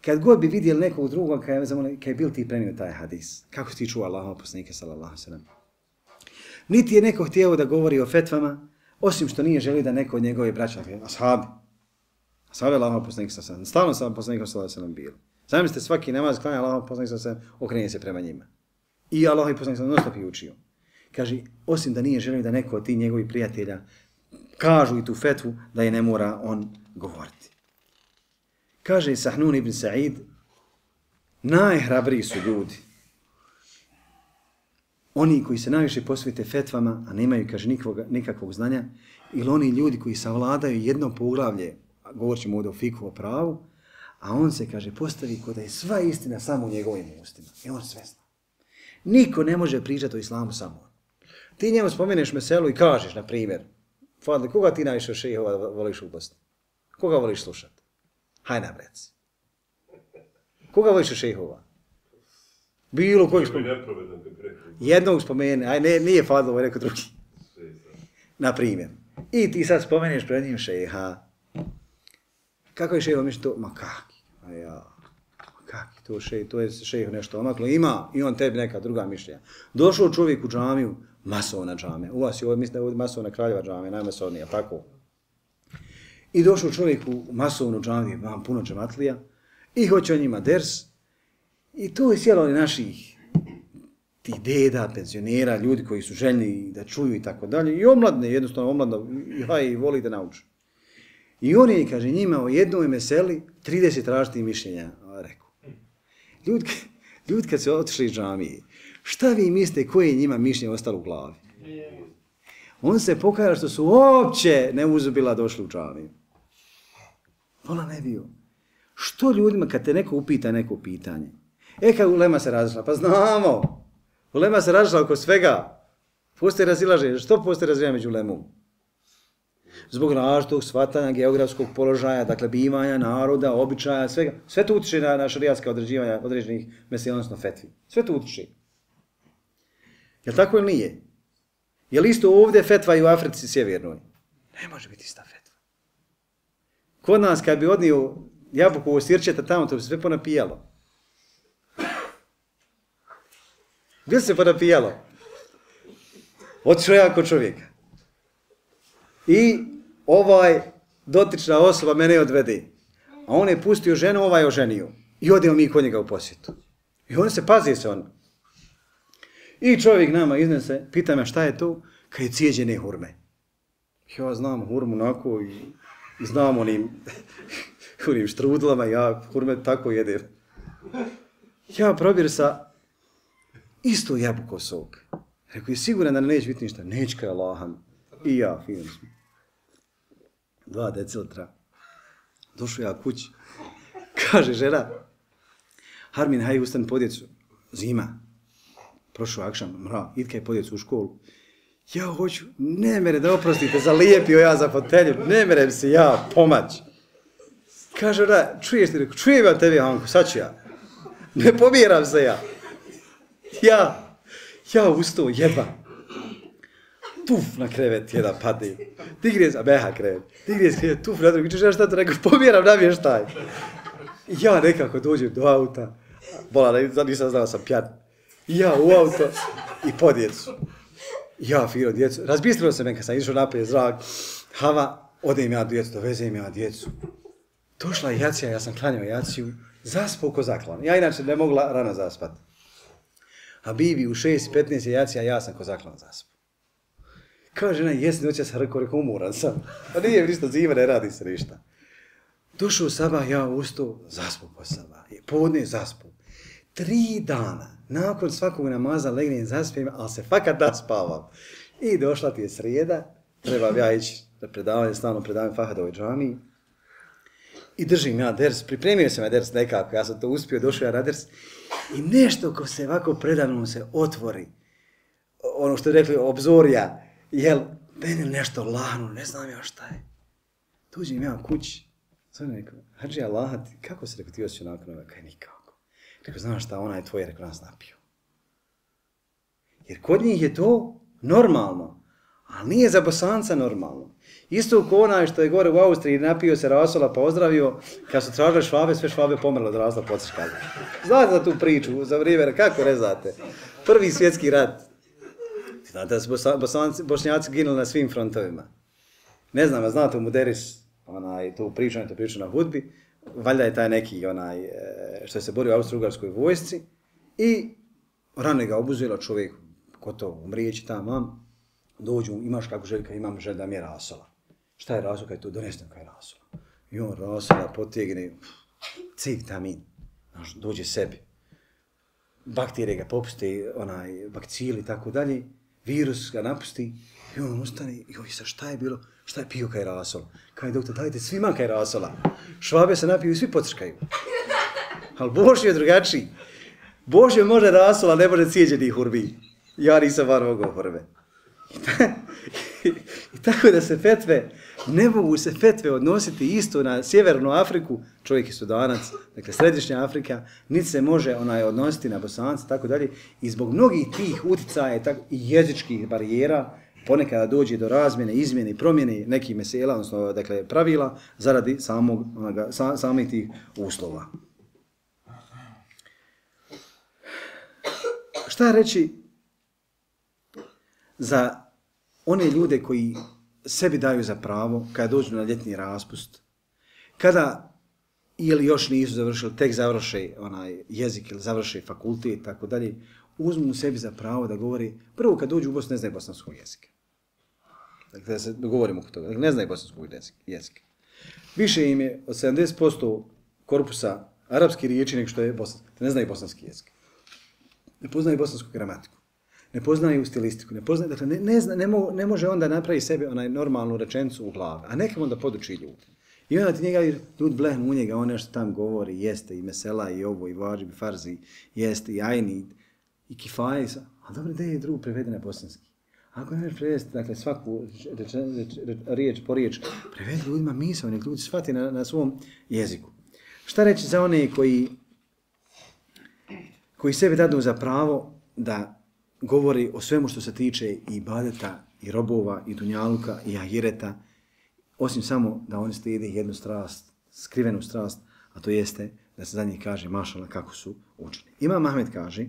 Kad god bi vidjeli nekog drugog, kaj je, kaj je bil ti prenio taj hadis, kako ti čuo Allahova poslanika sallallahu alejhi ve sellem. Niti je neko htio da govori o fetvama, osim što nije želio da neko od njegove braća, ashabi, ashabi Allahova poslanika sallallahu alejhi ve sellem, stalno sam poslanika sallallahu alejhi ve sellem bio. Zamislite, svaki namaz klanja Allahova poslanika sallallahu alejhi ve sellem, okrenje se prema njima. I Allahov poslanik sallallahu alejhi ve sellem non-stop učio. Kaže, osim da nije želio da neko od tih njegovih prijatelja kažu i tu fetvu da je ne mora on govoriti. Kaže Sahnun ibn Sa'id, najhrabriji su ljudi. Oni koji se najviše posvete fetvama, a nemaju, kaže, nikakvog, nikakvog znanja, ili oni ljudi koji savladaju jedno poglavlje, govorit ćemo ovdje o fiku, o pravu, a on se, kaže, postavi kod da je sva istina samo u njegovim ustima. I on sve zna. Niko ne može pričati o islamu samo on. Ti njemu spomeneš meselu i kažeš, na primjer, Fadli, koga ti najviše šejhova voliš u Bosni? Koga voliš slušati? Haj nam reci. Koga voliš šejhova? Bilo kojeg spomeni. Jednog spomeni, aj ne, nije Fadli, ovo je neko drugi. Na primjer. I ti sad spomeneš pred njim šejha. Kako je šejhova mišlja to? Ma kaki? A ja, kaki to šejh, to je šejh nešto omaklo. Ima i on tebi neka druga mišljenja. Došao čovjek u džamiju, masovna džame. U vas je ovo, mislim da je ovo masovna Kraljeva džame, najmasovnija, tako. I došao čovjek u masovnu džamiju, imam puno džematlija, i hoće o njima ders. I tu je sjelo naših ti deda, penzionera, ljudi koji su željni da čuju i tako dalje. I omladne, jednostavno omladno, ja i voli da nauču. I on je, kaže, njima o jednoj meseli trideset različitih mišljenja rekao. Ljudi, ljudi kad se otišli iz džamije, Šta vi mislite koje je njima mišljenje ostalo u glavi? On se pokaja što su uopće neuzubila došli u džamiju. Vola ne bio. Što ljudima kad te neko upita neko pitanje? E kad ulema se razišla, pa znamo. Ulema se razišla oko svega. Postoje razilaženje. Što postoje razilaženje među ulemom? Zbog različitog shvatanja, geografskog položaja, dakle bivanja, naroda, običaja, svega. Sve to utiče na, na šarijatska određivanja određenih mesela, odnosno fetvi. Sve to utiče. Je li tako ili nije? Je li isto ovdje fetva i u Africi sjevernoj? Ne može biti ista fetva. Kod nas kad bi odnio jabukovo sirčeta tamo, to bi se sve ponapijalo. Gdje se ponapijalo? Otišao ja kod čovjeka. I ovaj dotična osoba mene odvede. A on je pustio ženu, ovaj je oženio. I odemo mi kod njega u posjetu. I on se pazi se on. I čovjek nama iznese, pita me šta je to? Kad je cijeđene hurme. Ja znam hurmu onako i, i znam onim, onim štrudlama, ja hurme tako jedem. Ja probir sa isto jabuko sok. Rekao je siguran da neće biti ništa. Neće kaj Allaham. I ja, fino smo. Dva decilitra. Došao ja kući. Kaže žena, Harmin, haj ustan po djecu. Zima. Prošao akšam, mra, idkaj po djecu u školu. Ja hoću, ne mere da oprostite, zalijepio ja za fotelju, ne merem se ja pomać. Kaže ona, čuješ ti, čujem ja tebi, Hanko, sad ću ja. Ne pomiram se ja. Ja, ja ustao, jedva. Tuf na krevet, jedan padne. Digne se, beha krevet. Digne se krevet, tuf na drugi. Češ ja šta to rekao, pomiram namještaj. Ja nekako dođem do auta. Bola, nisam znao, sam pjan. Ja u auto i po djecu. Ja fino djecu. Razbistrilo se me kad sam išao naprijed zrak. Hava, odem ja djecu, dovezem ja djecu. Došla je jacija, ja sam klanjao jaciju. Zaspao ko zaklan. Ja inače ne mogla rano zaspat. A Bibi u šest i petnaest je jacija, ja sam ko zaklan zaspao. Kao žena, jesi noća sam rekao, rekao, umoran sam. Pa nije mi ništa zima, ne radi se ništa. Došao sabah, ja ustao, zaspao po sabah. Podne zaspao. Tri dana, nakon svakog namaza legnem zaspijem, ali se fakat naspavam. I došla ti je srijeda, trebam ja ići na predavanje, stalno predavanje Fahadovoj džamiji. I držim ja ders, pripremio sam ja ders nekako, ja sam to uspio, došao ja na ders. I nešto ko se ovako predavno se otvori, ono što je rekli, obzorja, jel, meni nešto lahno, ne znam ja šta je. Dođem ja kući, sam rekao, hađi Allah, kako se rekao ti osjećao nakon ovoga, kaj nikako. Rekao, znaš šta, ona je tvoja, rekao, nas napio. Jer kod njih je to normalno, ali nije za Bosanca normalno. Isto ko onaj što je gore u Austriji napio se rasola pa ozdravio, kad su tražili Švabe, sve Švabe pomrlo od razloga podsješkaza. Znate za tu priču, za vrijeme, kako ne znate? Prvi svjetski rat. Znate da su Bosanci, Bošnjaci ginuli na svim frontovima. Ne znam, znate u Muderis, onaj, tu priču, to priču na hudbi, valjda je taj neki onaj, što se borio u austro-ugarskoj vojsci i rano ga obuzelo čovjek, gotovo, umrijeći tamo, dođu, imaš kako željka, imam želj da mi je rasola. Šta je rasola? Kaj tu donesem kaj je rasola. I on rasola potegne, cik tamin, dođe sebi. Bakterije ga popuste, onaj, bakcili i tako dalje, virus ga napusti i on ustane i joj, sa šta je bilo? Šta je pio kaj rasola? Kaj doktor, dajte svima kaj rasola. Švabe se napiju i svi pocrkaju. Ali Božje je drugačiji. Božje može rasola, ne može cijeđenih hurbi. Ja nisam bar mogao hurbe. I tako da se fetve, ne mogu se fetve odnositi isto na Sjevernu Afriku, čovjek je Sudanac, dakle Središnja Afrika, niti se može onaj odnositi na Bosanca, tako dalje. I zbog mnogih tih uticaja i jezičkih barijera, ponekada dođe do razmjene, izmjene i promjene nekih mesela, odnosno dakle, pravila, zaradi samog, onoga, sa, samih tih uslova. Šta reći za one ljude koji sebi daju za pravo kada dođu na ljetni raspust, kada ili još nisu završili, tek završe onaj jezik ili završe fakultet i tako dalje, uzmu sebi za pravo da govori, prvo kad dođu u Bosnu ne znaju bosanskog jezika. Dakle, da se dogovorimo oko toga, dakle, ne znaju bosanskog jezika. Više im je od sedamdeset posto korpusa arapski riječi nego što je bosanski, ne znaju bosanski jezik. ne poznaju bosansku gramatiku, ne poznaju stilistiku, ne poznaju, dakle, ne, ne, zna, ne, mo, ne može onda napravi sebi onaj normalnu rečenicu u glavi, a nekam onda poduči ljudi. I onda ti njega, ljudi blehnu u njega, on nešto tam govori, jeste i mesela, i ovo, i vađib, i farzi, jeste i ajni, i kifaje, a dobro, gdje je drug prevede na bosanski? Ako ne možeš prevesti, dakle, svaku reč, reč, reč, riječ po riječ, prevedi ljudima misao, nek ljudi shvati na, na svom jeziku. Šta reći za one koji, koji sebi dadu za pravo da govori o svemu što se tiče i ibadeta, i robova, i dunjaluka, i ahireta, osim samo da oni slijede jednu strast, skrivenu strast, a to jeste da se za njih kaže mašala kako su učeni. Imam Ahmed kaže,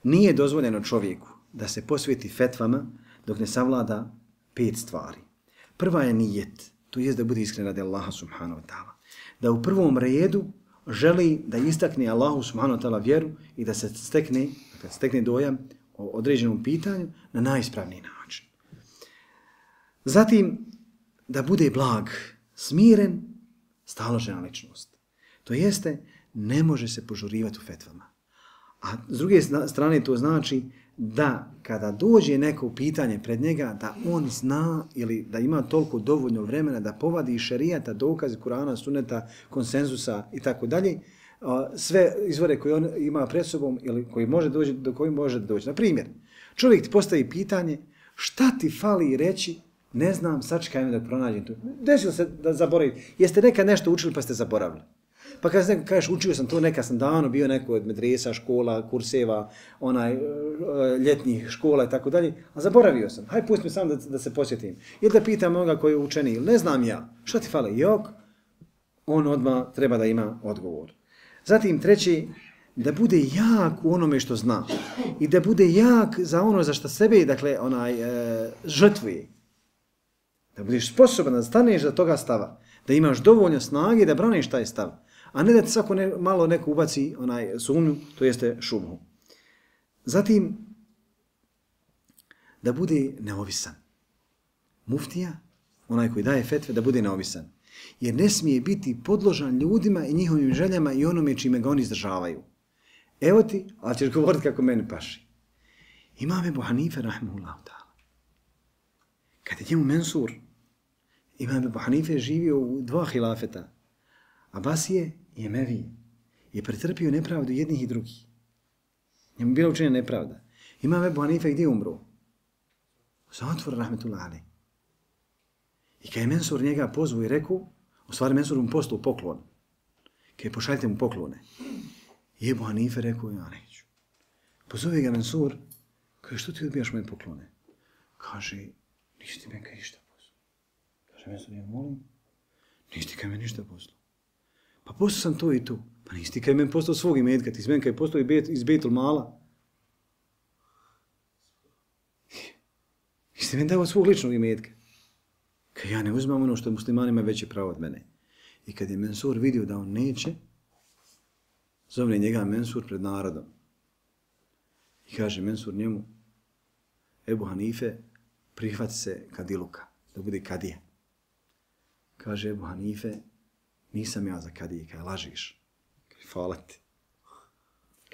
nije dozvoljeno čovjeku da se posveti fetvama dok ne savlada pet stvari. Prva je nijet, to jest da bude iskren radi Allaha subhanahu wa ta'ala. Da u prvom redu želi da istakne Allahu subhanahu wa ta'ala vjeru i da se stekne, da stekne dojam o određenom pitanju na najispravniji način. Zatim, da bude blag, smiren, staložena ličnost. To jeste, ne može se požurivati u fetvama. A s druge strane to znači da kada dođe neko pitanje pred njega, da on zna ili da ima toliko dovoljno vremena da povadi iz šerijata, dokaze Kurana, suneta, konsenzusa i tako dalje, sve izvore koje on ima pred sobom ili koji može doći, do kojih može doći. Na primjer, čovjek ti postavi pitanje šta ti fali reći, ne znam, sačekaj me da pronađem tu. Desilo se da zaboravite. Jeste nekad nešto učili pa ste zaboravili. Pa kada neko kažeš učio sam to, neka sam davno bio neko od medresa, škola, kurseva, onaj, ljetnih škola i tako dalje, a zaboravio sam. Hajde pusti me sam da, da se posjetim. Ili da pitam onoga koji je učeni, ili ne znam ja, šta ti fali? Jok, on odmah treba da ima odgovor. Zatim treći, da bude jak u onome što zna i da bude jak za ono za što sebe, dakle, onaj, e, žrtvuje. Da budeš sposoban da staneš za toga stava, da imaš dovoljno snage da braniš taj stav, a ne da ti svako ne, malo neko ubaci onaj sumnju, to jeste šubhu. Zatim, da bude neovisan. Muftija, onaj koji daje fetve, da bude neovisan. Jer ne smije biti podložan ljudima i njihovim željama i onome čime ga oni izdržavaju. Evo ti, ali ćeš govoriti kako meni paši. Imam Ebu Hanife, rahimahullahu ta'ala. Kad je njemu Mensur, Imam Ebu Hanife je živio u dva hilafeta, Abasije i Emevije, je pretrpio nepravdu jednih i drugih. Njemu bila učinjena nepravda. Imam Ebu Hanife gdje umro? U zatvoru, rahmetullahi alejhi. I kad je Mensur njega pozvao i rekao, u stvari Mensur mu poslao poklon. Kad je pošaljite mu poklone. I Ebu Hanife rekao, ja neću. Pozove ga Mensur, kaže, što ti odbijaš moje poklone? Kaže, nisi ti meni ništa poslao. Kaže, Mensur, ja molim, nisi ti kaj meni ništa poslao. Pa poslao sam to i to. Pa nisi ti kaj meni poslao svog imetka, ti si meni kaj poslao iz Bejtul Mala. Nisi ti meni dao svog ličnog imetka. Kad ja ne uzmam ono što muslimanima veće pravo od mene. I kad je Mensur vidio da on neće, zovne njega Mensur pred narodom. I kaže Mensur njemu, Ebu Hanife, prihvati se kadiluka, da bude kadija. Kaže Ebu Hanife, nisam ja za kadije, kaj lažiš. Kaže, hvala ti.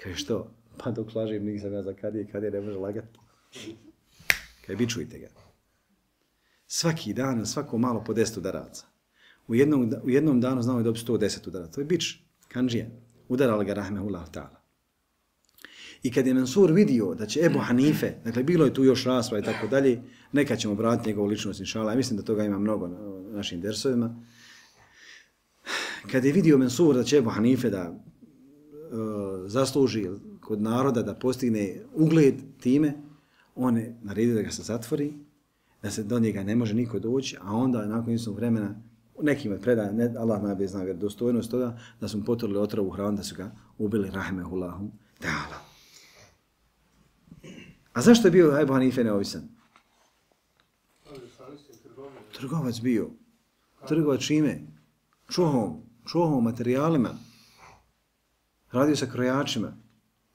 Kaže, što? Pa dok lažim, nisam ja za kadije, kadije ne može lagati. Kaže, bičujte ga. Svaki dan, svako malo po deset udaraca. U jednom, u jednom danu znao je dobiti sto deset udaraca. To je bič, kanđija. Udarala ga rahmehullahu ta'ala. I kad je Mansur vidio da će Ebu Hanife, dakle bilo je tu još rasprava i tako dalje, nekad ćemo vratiti njegovu ličnost inšala, ja mislim da toga ima mnogo na našim dersovima. Kad je vidio Mansur da će Ebu Hanife da uh, zasluži kod naroda, da postigne ugled time, on je naredio da ga se zatvori, da se do njega ne može niko doći, a onda nakon istog vremena nekim od predaja, ne, Allah najbolje zna vjerodostojnost toga, da su mu poturili otrovu hranu, da su ga ubili rahmehullahu ta'ala. A zašto je bio Ebu Hanife neovisan? Trgovac bio. Trgovac čime? Čuhom, čuhom, materijalima. Radio sa krojačima.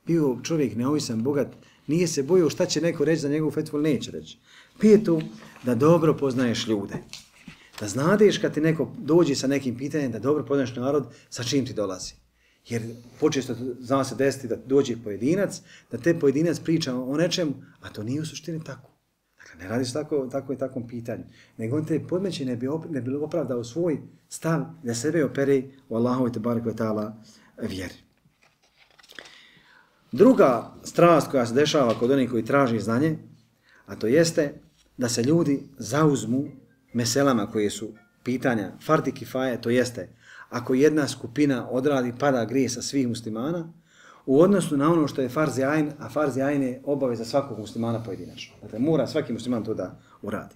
Bio čovjek neovisan, bogat. Nije se bojio šta će neko reći za njegovu fetvu, ali neće reći. Petu, da dobro poznaješ ljude. Da znadeš kad ti neko dođe sa nekim pitanjem, da dobro poznaješ narod sa čim ti dolazi. Jer počesto zna se desiti da dođe pojedinac, da te pojedinac priča o nečemu, a to nije u suštini tako. Dakle, ne radi se tako, tako i takvom pitanju. Nego on te podmeće ne bi, op, ne bi opravdao svoj stav da sebe opere u Allahovi tebareke ve taala vjeri. Druga strast koja se dešava kod onih koji traži znanje, a to jeste da se ljudi zauzmu meselama koje su pitanja fardi kifaje, to jeste ako jedna skupina odradi pada grije sa svih muslimana u odnosu na ono što je farz ajn, a farz ajn je obaveza svakog muslimana pojedinačno. Dakle, mora svaki musliman to da uradi.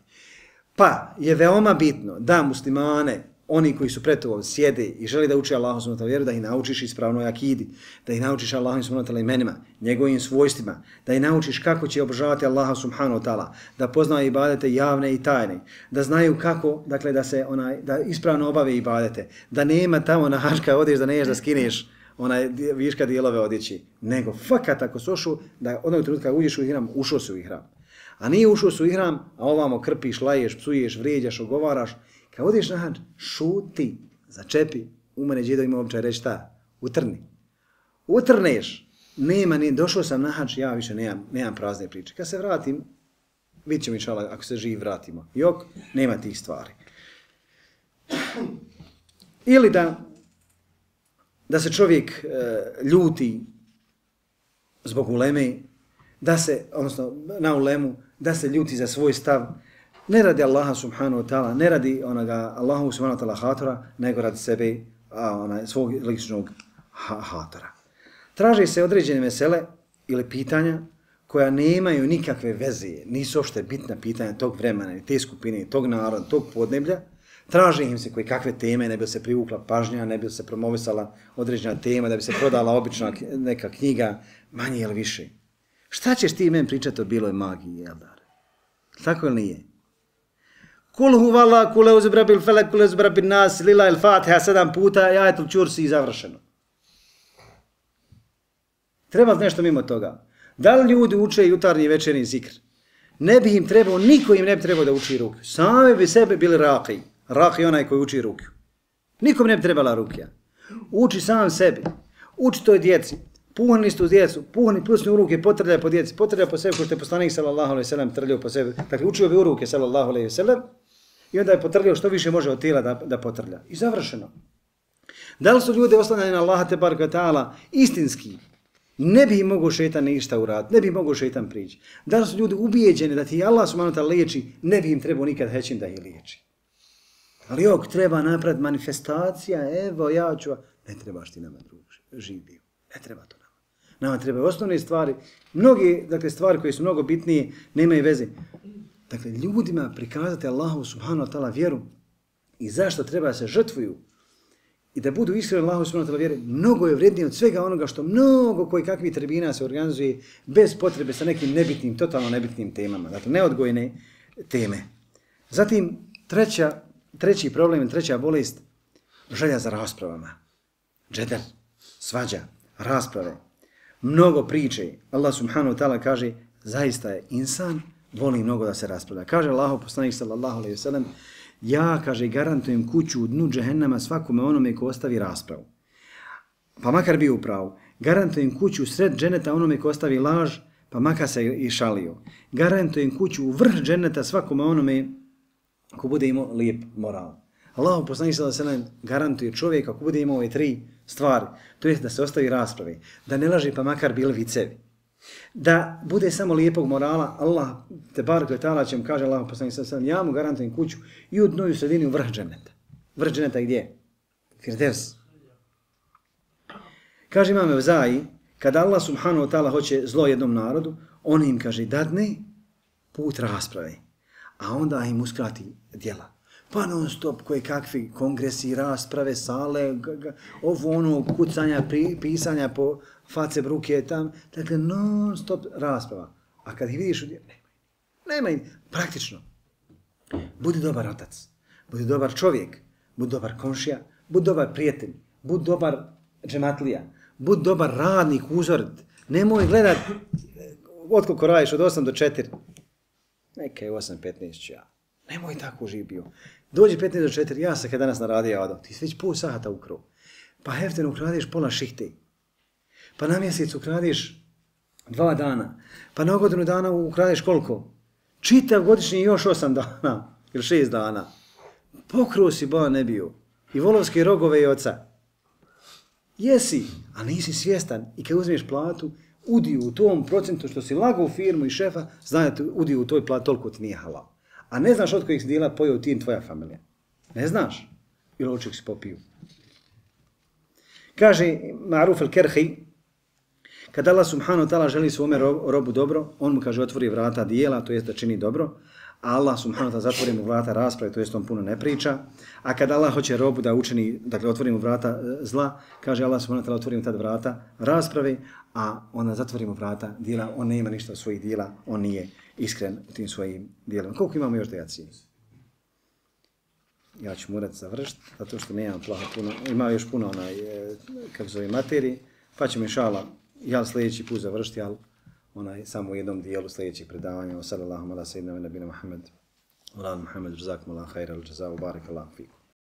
Pa je veoma bitno da muslimane, oni koji su pred tobom sjede i žele da uče Allahu subhanahu wa ta'ala vjeru, da ih naučiš ispravnoj akidi, da ih naučiš Allahu subhanahu wa ta'ala imenima, njegovim svojstvima, da ih naučiš kako će obožavati Allaha subhanahu wa ta'ala, da poznaju ibadete javne i tajne, da znaju kako, dakle, da se onaj, da ispravno obave ibadete, da nema tamo na hačka odeš da neješ da skineš onaj viška dijelove odjeći, nego fakat ako su ušao, da onog trenutka uđeš u ihram, ušao si u ihram. A nije ušao si u ihram, a ovamo krpiš, laješ, psuješ, vrijeđaš, ogovaraš. Kad odiš na hadž, šuti, začepi, u mene džedo ima običaj reći šta? Utrni. Utrneš. Nema, ni došao sam na hadž, ja više nemam, nemam prazne priče. Kad se vratim, vidit ćemo inšala, ako se živ vratimo. Jok, nema tih stvari. Ili da, da se čovjek e, ljuti zbog uleme, da se, odnosno na ulemu, da se ljuti za svoj stav, ne radi Allaha subhanahu wa ta'ala, ne radi onoga Allahu subhanahu wa ta'ala hatora, nego radi sebe, a, onaj, svog ličnog ha hatora. Traži se određene mesele ili pitanja koja nemaju nikakve veze, nisu uopšte bitna pitanja tog vremena, te skupine, tog naroda, tog podneblja. Traži im se koje kakve teme, ne bi se privukla pažnja, ne bi se promovisala određena tema, da bi se prodala obična neka knjiga, manje ili više. Šta ćeš ti meni pričati o biloj magiji, Eldar? Tako ili nije? Kul huvala, kule uzbrabil felek, kule uzbrabil nas, lila il fatiha, sedam puta, ajetul čursi i završeno. Treba nešto mimo toga. Da li ljudi uče jutarnji i večerni zikr? Ne bi im trebao, niko im ne bi trebao da uči rukju. Same bi sebe bili raki. Raki je onaj koji uči rukju. Nikom ne bi trebala rukja. Uči sam sebi. Uči toj djeci. Puhni istu djecu. Puhni plusni u ruke, potrljaj po djeci. Potrljaj po sebi, ko što je poslanik sallallahu alejhi ve sellem trljao po sebi. Dakle, učio bi u ruke sallallahu alejhi ve sellem i onda je potrljao što više može od tijela da, da potrlja. I završeno. Da li su ljudi oslanjani na Allaha tebareke ve taala istinski? Ne bi im mogo šetan ništa uraditi, ne bi im mogo šetan prići. Da li su ljudi ubijeđeni da ti Allah subhanahu wa ta'ala liječi, ne bi im trebao nikad hećin da ih liječi. Ali jok, treba napraviti manifestacija, evo ja ću, ne trebaš ti nama drug živio, ne treba to nama. Nama treba osnovne stvari, mnoge dakle, stvari koje su mnogo bitnije, nemaju veze. Dakle, ljudima prikazati Allahu subhanahu wa ta'ala vjeru i zašto treba se žrtvuju i da budu iskreni Allahu subhanahu wa ta'ala vjeri, mnogo je vrijednije od svega onoga što mnogo koji kakvi tribina se organizuje bez potrebe sa nekim nebitnim, totalno nebitnim temama. Dakle, neodgojne teme. Zatim, treća, treći problem, treća bolest, želja za raspravama. Džedel, svađa, rasprave, mnogo priče. Allah subhanahu wa ta'ala kaže, zaista je insan, voli mnogo da se raspravlja. Kaže Allahu poslanik sallallahu alejhi ve sellem, ja, kaže, garantujem kuću u dnu džehennama svakome onome ko ostavi raspravu. Pa makar bio u pravu. Garantujem kuću sred dženeta onome ko ostavi laž, pa makar se i šalio. Garantujem kuću u vrh dženeta svakome onome ko bude imao lijep moral. Allah poslanik sallallahu alejhi ve sellem garantuje čovjeka ako bude imao ove tri stvari, to jest da se ostavi rasprave, da ne laže pa makar bili vicevi. Da bude samo lijepog morala, Allah tebareke ve taala će mu kaže Allah poslanik sallallahu alejhi ve sellem, ja mu garantujem kuću i u dnu i u sredini u vrh dženeta. Vrh dženeta gdje? Firdevs. Kaže imam Evzai, kada Allah subhanahu wa ta'ala hoće zlo jednom narodu, on im kaže dadne put rasprave, a onda im uskrati djela. Pa non stop koje kakvi kongresi, rasprave, sale, ovo ono kucanja, pri, pisanja po face bruke tam, dakle non stop rasprava. A kad ih vidiš, nema, nema, praktično. Budi dobar otac, budi dobar čovjek, budi dobar komšija, budi dobar prijatelj, budi dobar džematlija, budi dobar radnik, uzorit. Nemoj gledat otkoliko radiš od osam do četiri. Neka je osam petnaest ja. Nemoj tako živ bio. Dođi petnaest do četiri, ja sam kad danas na radija odao. Ti si već pol sata ukrao. Pa heften ukradeš pola šihte. Pa na mjesec ukradeš dva dana. Pa na godinu dana ukradeš koliko? Čitav godišnji još osam dana. Ili šest dana. Pokruo si boja ne bio. I volovske rogove i oca. Jesi, a nisi svjestan. I kad uzmeš platu, udio u tom procentu što si lagao u firmu i šefa, znate, udio u toj plati toliko ti nije halal. A ne znaš od kojih si dijela pojeo ti i tvoja familija. Ne znaš. Ili oček si popiju. Kaže Ma'ruf al-Kerhi, kad Allah subhanahu wa ta'ala želi svome robu dobro, on mu kaže otvori vrata dijela, to jest da čini dobro, a Allah subhanahu wa ta'ala zatvori mu vrata rasprave, to jest on puno ne priča, a kad Allah hoće robu da učini, dakle otvori mu vrata zla, kaže Allah subhanahu wa ta'ala otvori mu tad vrata rasprave, a onda zatvori mu vrata dijela, on ne ima ništa od svojih dijela, on nije iskren u tim svojim dijelima. Koliko imamo još dejacije? Ja ću morat završiti, zato što nemam plaha puno, ima još puno onaj, kako zove, materiji, pa ćemo inšala, ja sljedeći put završiti, ali onaj, samo u jednom dijelu sljedećeg predavanja. Wa sallallahu ala sayyidina wa nabina Muhammad. Wa ala Muhammad, jazakum Allah khaira, al-jazaa, wa barak Allah fikum.